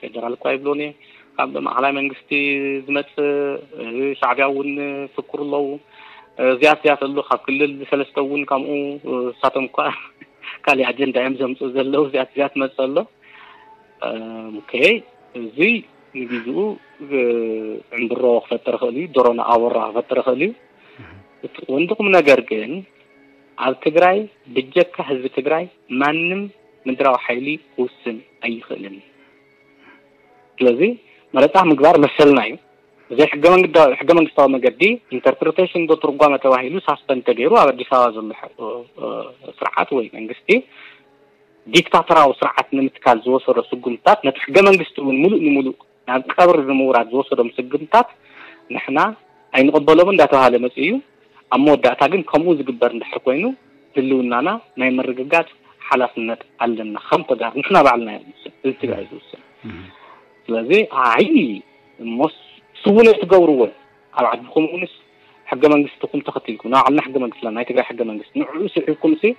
ፌደራል እኳ ይብሎን እየ፣ ካብ ማእኸላይ መንግስቲ ዝመፅእ፣ ሻዕቢያ እውን ፍክሩ ኣለዉ። እዚያት እዚያት ኣሎ ካብ ክልል ሰለስተ እውን ከምኡ፣ እሳቶም እኳ ካሊእ ኣጀንዳ እዮም ዘምፅኡ ዘለዉ። እዚያት እዚያት መፅእ ኣሎ። ኦኬ፣ እዚ ንግዜኡ ዕምብሮ ክፈጥር ይኽእል እዩ፣ ዶሮና ኣቦራ ክፈጥር ይኽእል እዩ። እቲ ወንድኹም ነገር ግን ኣብ ትግራይ ብጀካ ህዝቢ ትግራይ ማንም ምድራዊ ሓይሊ ክውስን ኣይኽእልን። ስለዚ መረፃ ምግባር መሰልና እዩ። ብዘይ ሕገ መንግስታዊ መገዲ ኢንተርፕሪቴሽን ዶ ትርጓመ ተባሂሉ ሳስፐንድ ተገይሩ ኣብ ኣዲስ ኣበባ ዘሎ ስርዓት ወይ መንግስቲ ዲክታተራዊ ስርዓት ንምትካል ዝወሰዶ ስጉምታት ነቲ ሕገ መንግስቲ እውን ሙሉእ ንሙሉእ ናብ ቀብሪ ንምውራድ ዝወሰዶም ስጉምታት ንሕና ኣይንቕበሎም እንዳተባሃለ መፅኡ እዩ። ኣብ መወዳእታ ግን ከምኡ ዝግበር እንድሕር ኮይኑ ህልውናና ናይ ምርግጋፅ ሓላፍነት ኣለና። ከም ተጋሩ ንሕና ባዕልና ኢና ንውስን፣ እዚ ትግራይ ዝውስን። ስለዚ ኣይ እሞስ ስውነ ትገብርዎ ኣብ ዓድኹም እውንስ ሕገ መንግስትኹም ተኸቲልኩም፣ ናይ ባዕልና ሕገ መንግስትና፣ ናይ ትግራይ ሕገ መንግስቲ ንዕኡ ስዒብኩም ሲ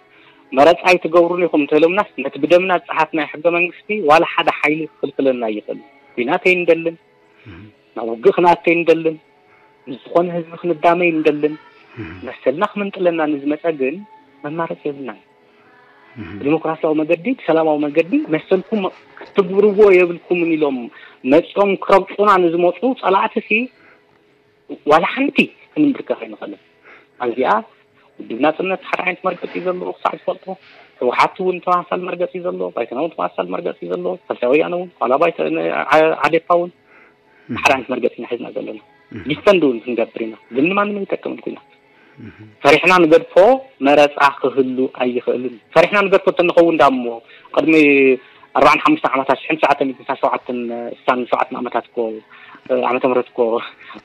መረፃ ኣይትገብሩን ኢኹም እንተኢሎምናስ ነቲ ብደምና ዝፀሓፍናዮ ሕገ መንግስቲ ዋላ ሓደ ሓይሊ ክኽልክለና ኣይኽእልን። ኲናት ኣይንደልን፣ ናብ ውግእ ክንኣቱ ኣይንደልን፣ ምስ ዝኾነ ህዝቢ ክንዳመ ኣይንደልን። መሰልና ክምንጥለና ንዝመፀ ግን መማረፂ የብልናን። ብዲሞክራሲያዊ መገዲ፣ ብሰላማዊ መገዲ መሰልኩም ክትግብርዎ የብልኩምን ኢሎም መፂኦም ክረግፁና ንዝመፁ ፀላእቲ ሲ ዋላ ሓንቲ ክንምብርከኽ ኣይንኽእልን። ኣብዚኣ ውድብ ናጽነት ሓደ ዓይነት መርገጺ እዩ ዘለዎ ክሳዕ ዝፈልጦ። ህወሓት እውን ተመሳሳሊ መርገጺ እዩ ዘለዎ፣ ባይቶና እውን ተመሳሳሊ መርገጺ እዩ ዘለዎ፣ ሳልሳይ ወያነ እውን፣ ዋላ ባይቶ-፣ ዓ-፣ ዓዴፓ እውን ሓደ ዓይነት መርገጺ ኢና ሒዝና ዘለና። ዲፈንድ እውን ክንገብር ኢና፣ ግን ንማንም ኣይጠቅምን ኩናት። ፈሪሕና ንገድፎ መረጻ ክህሉ ኣይኽእልን። ፈሪሕና ንገድፎ እንተንኸውን ዳሞ ቅድሚ ኣርባዓን ሓሙሽተ ዓመታት ሽሕን ትሽዓተ ሚእትን ሸውዓተን ዓመታት እኮ፣ ዓመተ ምህረት እኮ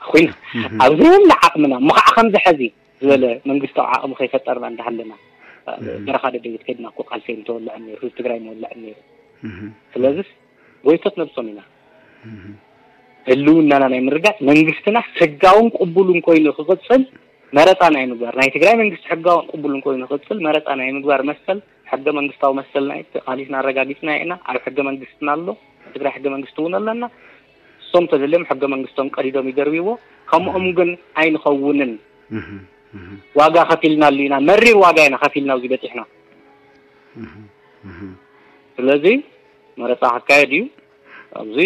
ኮይና ኣብዚ ሁሉ ዓቕምና እሞ ከዓ ከምዚ ሕዚ ዝበለ መንግስታዊ ዓቕሚ ከይፈጠርና እንዳሃለና በረኻ ደደቢት ከድና እኮ ቃልሲ እንተወልዐ ነይሩ፣ ህዝቢ ትግራይ መወልዐ ነይሩ። ስለዚስ ጎይቶት ነብሶም ኢና። ህልውናና ናይ ምርጋጥ መንግስትና ሕጋውን ቅቡልን ኮይኑ ክቕጽል መረጻ ናይ ምግባር፣ ናይ ትግራይ መንግስቲ ሕጋውን ቅቡልን ኮይኑ ክቕጽል መረጻ ናይ ምግባር መሰል፣ ሕገ መንግስታዊ መሰልና እዩ፣ ተቓሊስና ኣረጋጊጽና ኢና። ኣብ ሕገ መንግስትና ኣሎ፣ ኣብ ትግራይ ሕገ መንግስቲ እውን ኣለና። እሶም ተደልዮም ሕገ መንግስቶም ቀዲዶም ይደርብይዎ። ከምኦም ግን ኣይንኸውንን። ዋጋ ከፊልናሉ ኢና፣ መሪር ዋጋ ኢና ከፊልና ኣብዚ በፂሕና። ስለዚ መረፃ ክካየድ እዩ። ኣብዚ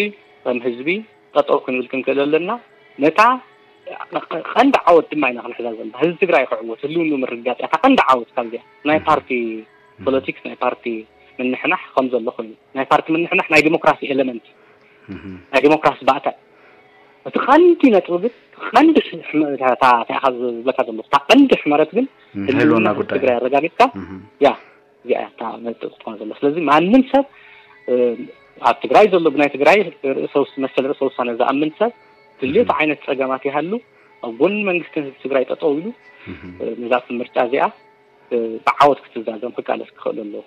ከም ህዝቢ ጠጠው ክንብል ክንክእል ኣለና። ነታ ቀንዲ ዓወት ድማ ኢና ክንሕዛ ዘለና። ህዝቢ ትግራይ ክዕወት፣ ህልውንኡ ምርግጋፅ እያ እታ ቀንዲ ዓወት። ካብዚኣ ናይ ፓርቲ ፖለቲክስ፣ ናይ ፓርቲ ምንሕናሕ ከም ዘሎ ኮይኑ፣ ናይ ፓርቲ ምንሕናሕ ናይ ዲሞክራሲ ኤለመንት፣ ናይ ዲሞክራሲ ባእታ። እቲ ቀንዲ ነጥቢ ግን፣ ቀንዲ ሕመ-፣ እታ፣ እታ፣ እታ ኢኻ ዝብለካ ዘለኹ፣ እታ ቀንዲ ሕመረት ግን ናይ ህልውና ህልውና ህዝቢ ጉዳይ። ትግራይ ኣረጋጊፅካ፣ ያ፣ እዚኣ እያ እታ ነጥብ ክትኮን ዘላ። ስለዚ ማንም ሰብ፣ እ፣ ኣብ ትግራይ ዘሎ ብናይ ትግራይ ርእሰ ውስ-፣ መሰል ርእሰ ውሳነ ዝኣምን ሰብ ድልዮቱ ዓይነት ፀገማት ይሃሉ ኣብ ጎኒ መንግስትን ህዝቢ ትግራይ ጠጠው ኢሉ፣ እ፣ ነዛ ምርጫ እዚኣ፣ እ፣ ብዓወት ክትዛዘም ክቃለስ ክኽእል ኣለዎ።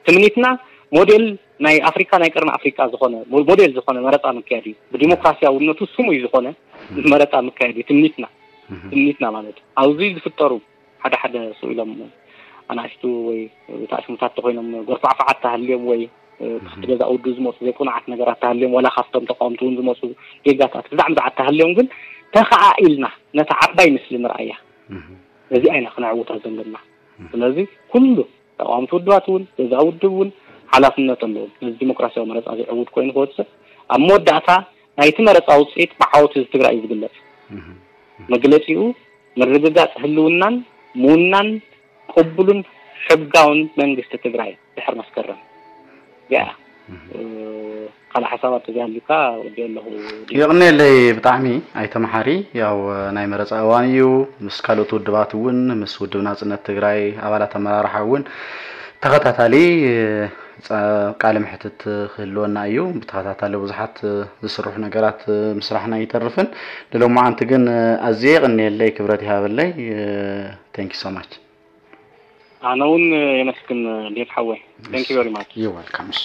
ትምኒትና ሞዴል ናይ ኣፍሪካ፣ ናይ ቀርኒ ኣፍሪካ ዝኾነ፣ ሞ-፣ ሞዴል ዝኾነ መረፃ ምክያድ እዩ። ብዲሞክራሲያውነቱ ስሙይ ዝኾነ መረፃ ምክያድ እዩ ትምኒትና። ትምኒትና ማለት እዩ። ኣብዚ ዝፍጠሩ ሓደ ሓደ ስቕ ኢሎም ኣናእሽቱ ወይ ታእሽሙታት ተኾይኖም ጎርፋዕፋዓት ተሃልዮም ወይ፣ እ፣ ትሕቲ ገዛ ውድብ ዝመፁ ዘይቁኑዓት ነገራት ተሃልዮም፣ ዋላ ካብቶም ተቃወምቲ እውን ዝመፁ ጌጋታት፣ ብዛዕ ብዛዓት ተሃልዮም ግን ተኸኣኢልና ነታ ዓባይ ምስሊ ንርኣያ። እዚኣ ኢና ክነዕውታ ዘለና። ስለዚ ኩሉ ተቃወምቲ ውድባት እውን፣ ገዛ ውድብ እውን ሓላፍነት ኣለዎም። ነዚ ዲሞክራሲያዊ መረፃ እዚ ዕዉት ኮይኑ ክወፅእ፣ ኣብ መወዳእታ ናይቲ መረፃ ውፅኢት ብዓወት ህዝቢ ትግራይ እዩ ዝግለፅ። መግለፂኡ ምርግጋፅ ህልውናን ምውናን ቅቡልን ሕጋውን መንግስቲ ትግራይ ድሕር መስከረም። ያ፣ እ፣ ካልእ ሓሳባት ተዘይሃልዩካ ወዲኦ ኣለኹ። የቕኔለይ ብጣዕሚ ኣይተ መሓሪ። ያው ናይ መረፃ እዋን እዩ። ምስ ካልኦት ውድባት እውን፣ ምስ ውድብ ናፅነት ትግራይ ኣባላት ኣመራርሓ እውን ተኸታታሊ፣ እ፣ ጸ-፣ ቃለ መሕትት ክህልወና እዩ። ብተኸታታሊ ብዙሓት፣ እ፣ ዝስርሑ ነገራት፣ እ፣ ምስራሕና ኣይተርፍን። ንሎማዓንቲ ግን፣ እ፣ ኣዝየ የቕኔለይ፣ ክብረት ይሃበለይ። እ፣ thank you so much። ኣነ እውን የመስግን ዴቭ ሓወይ። Thank you very much። You're welcome። እሺ።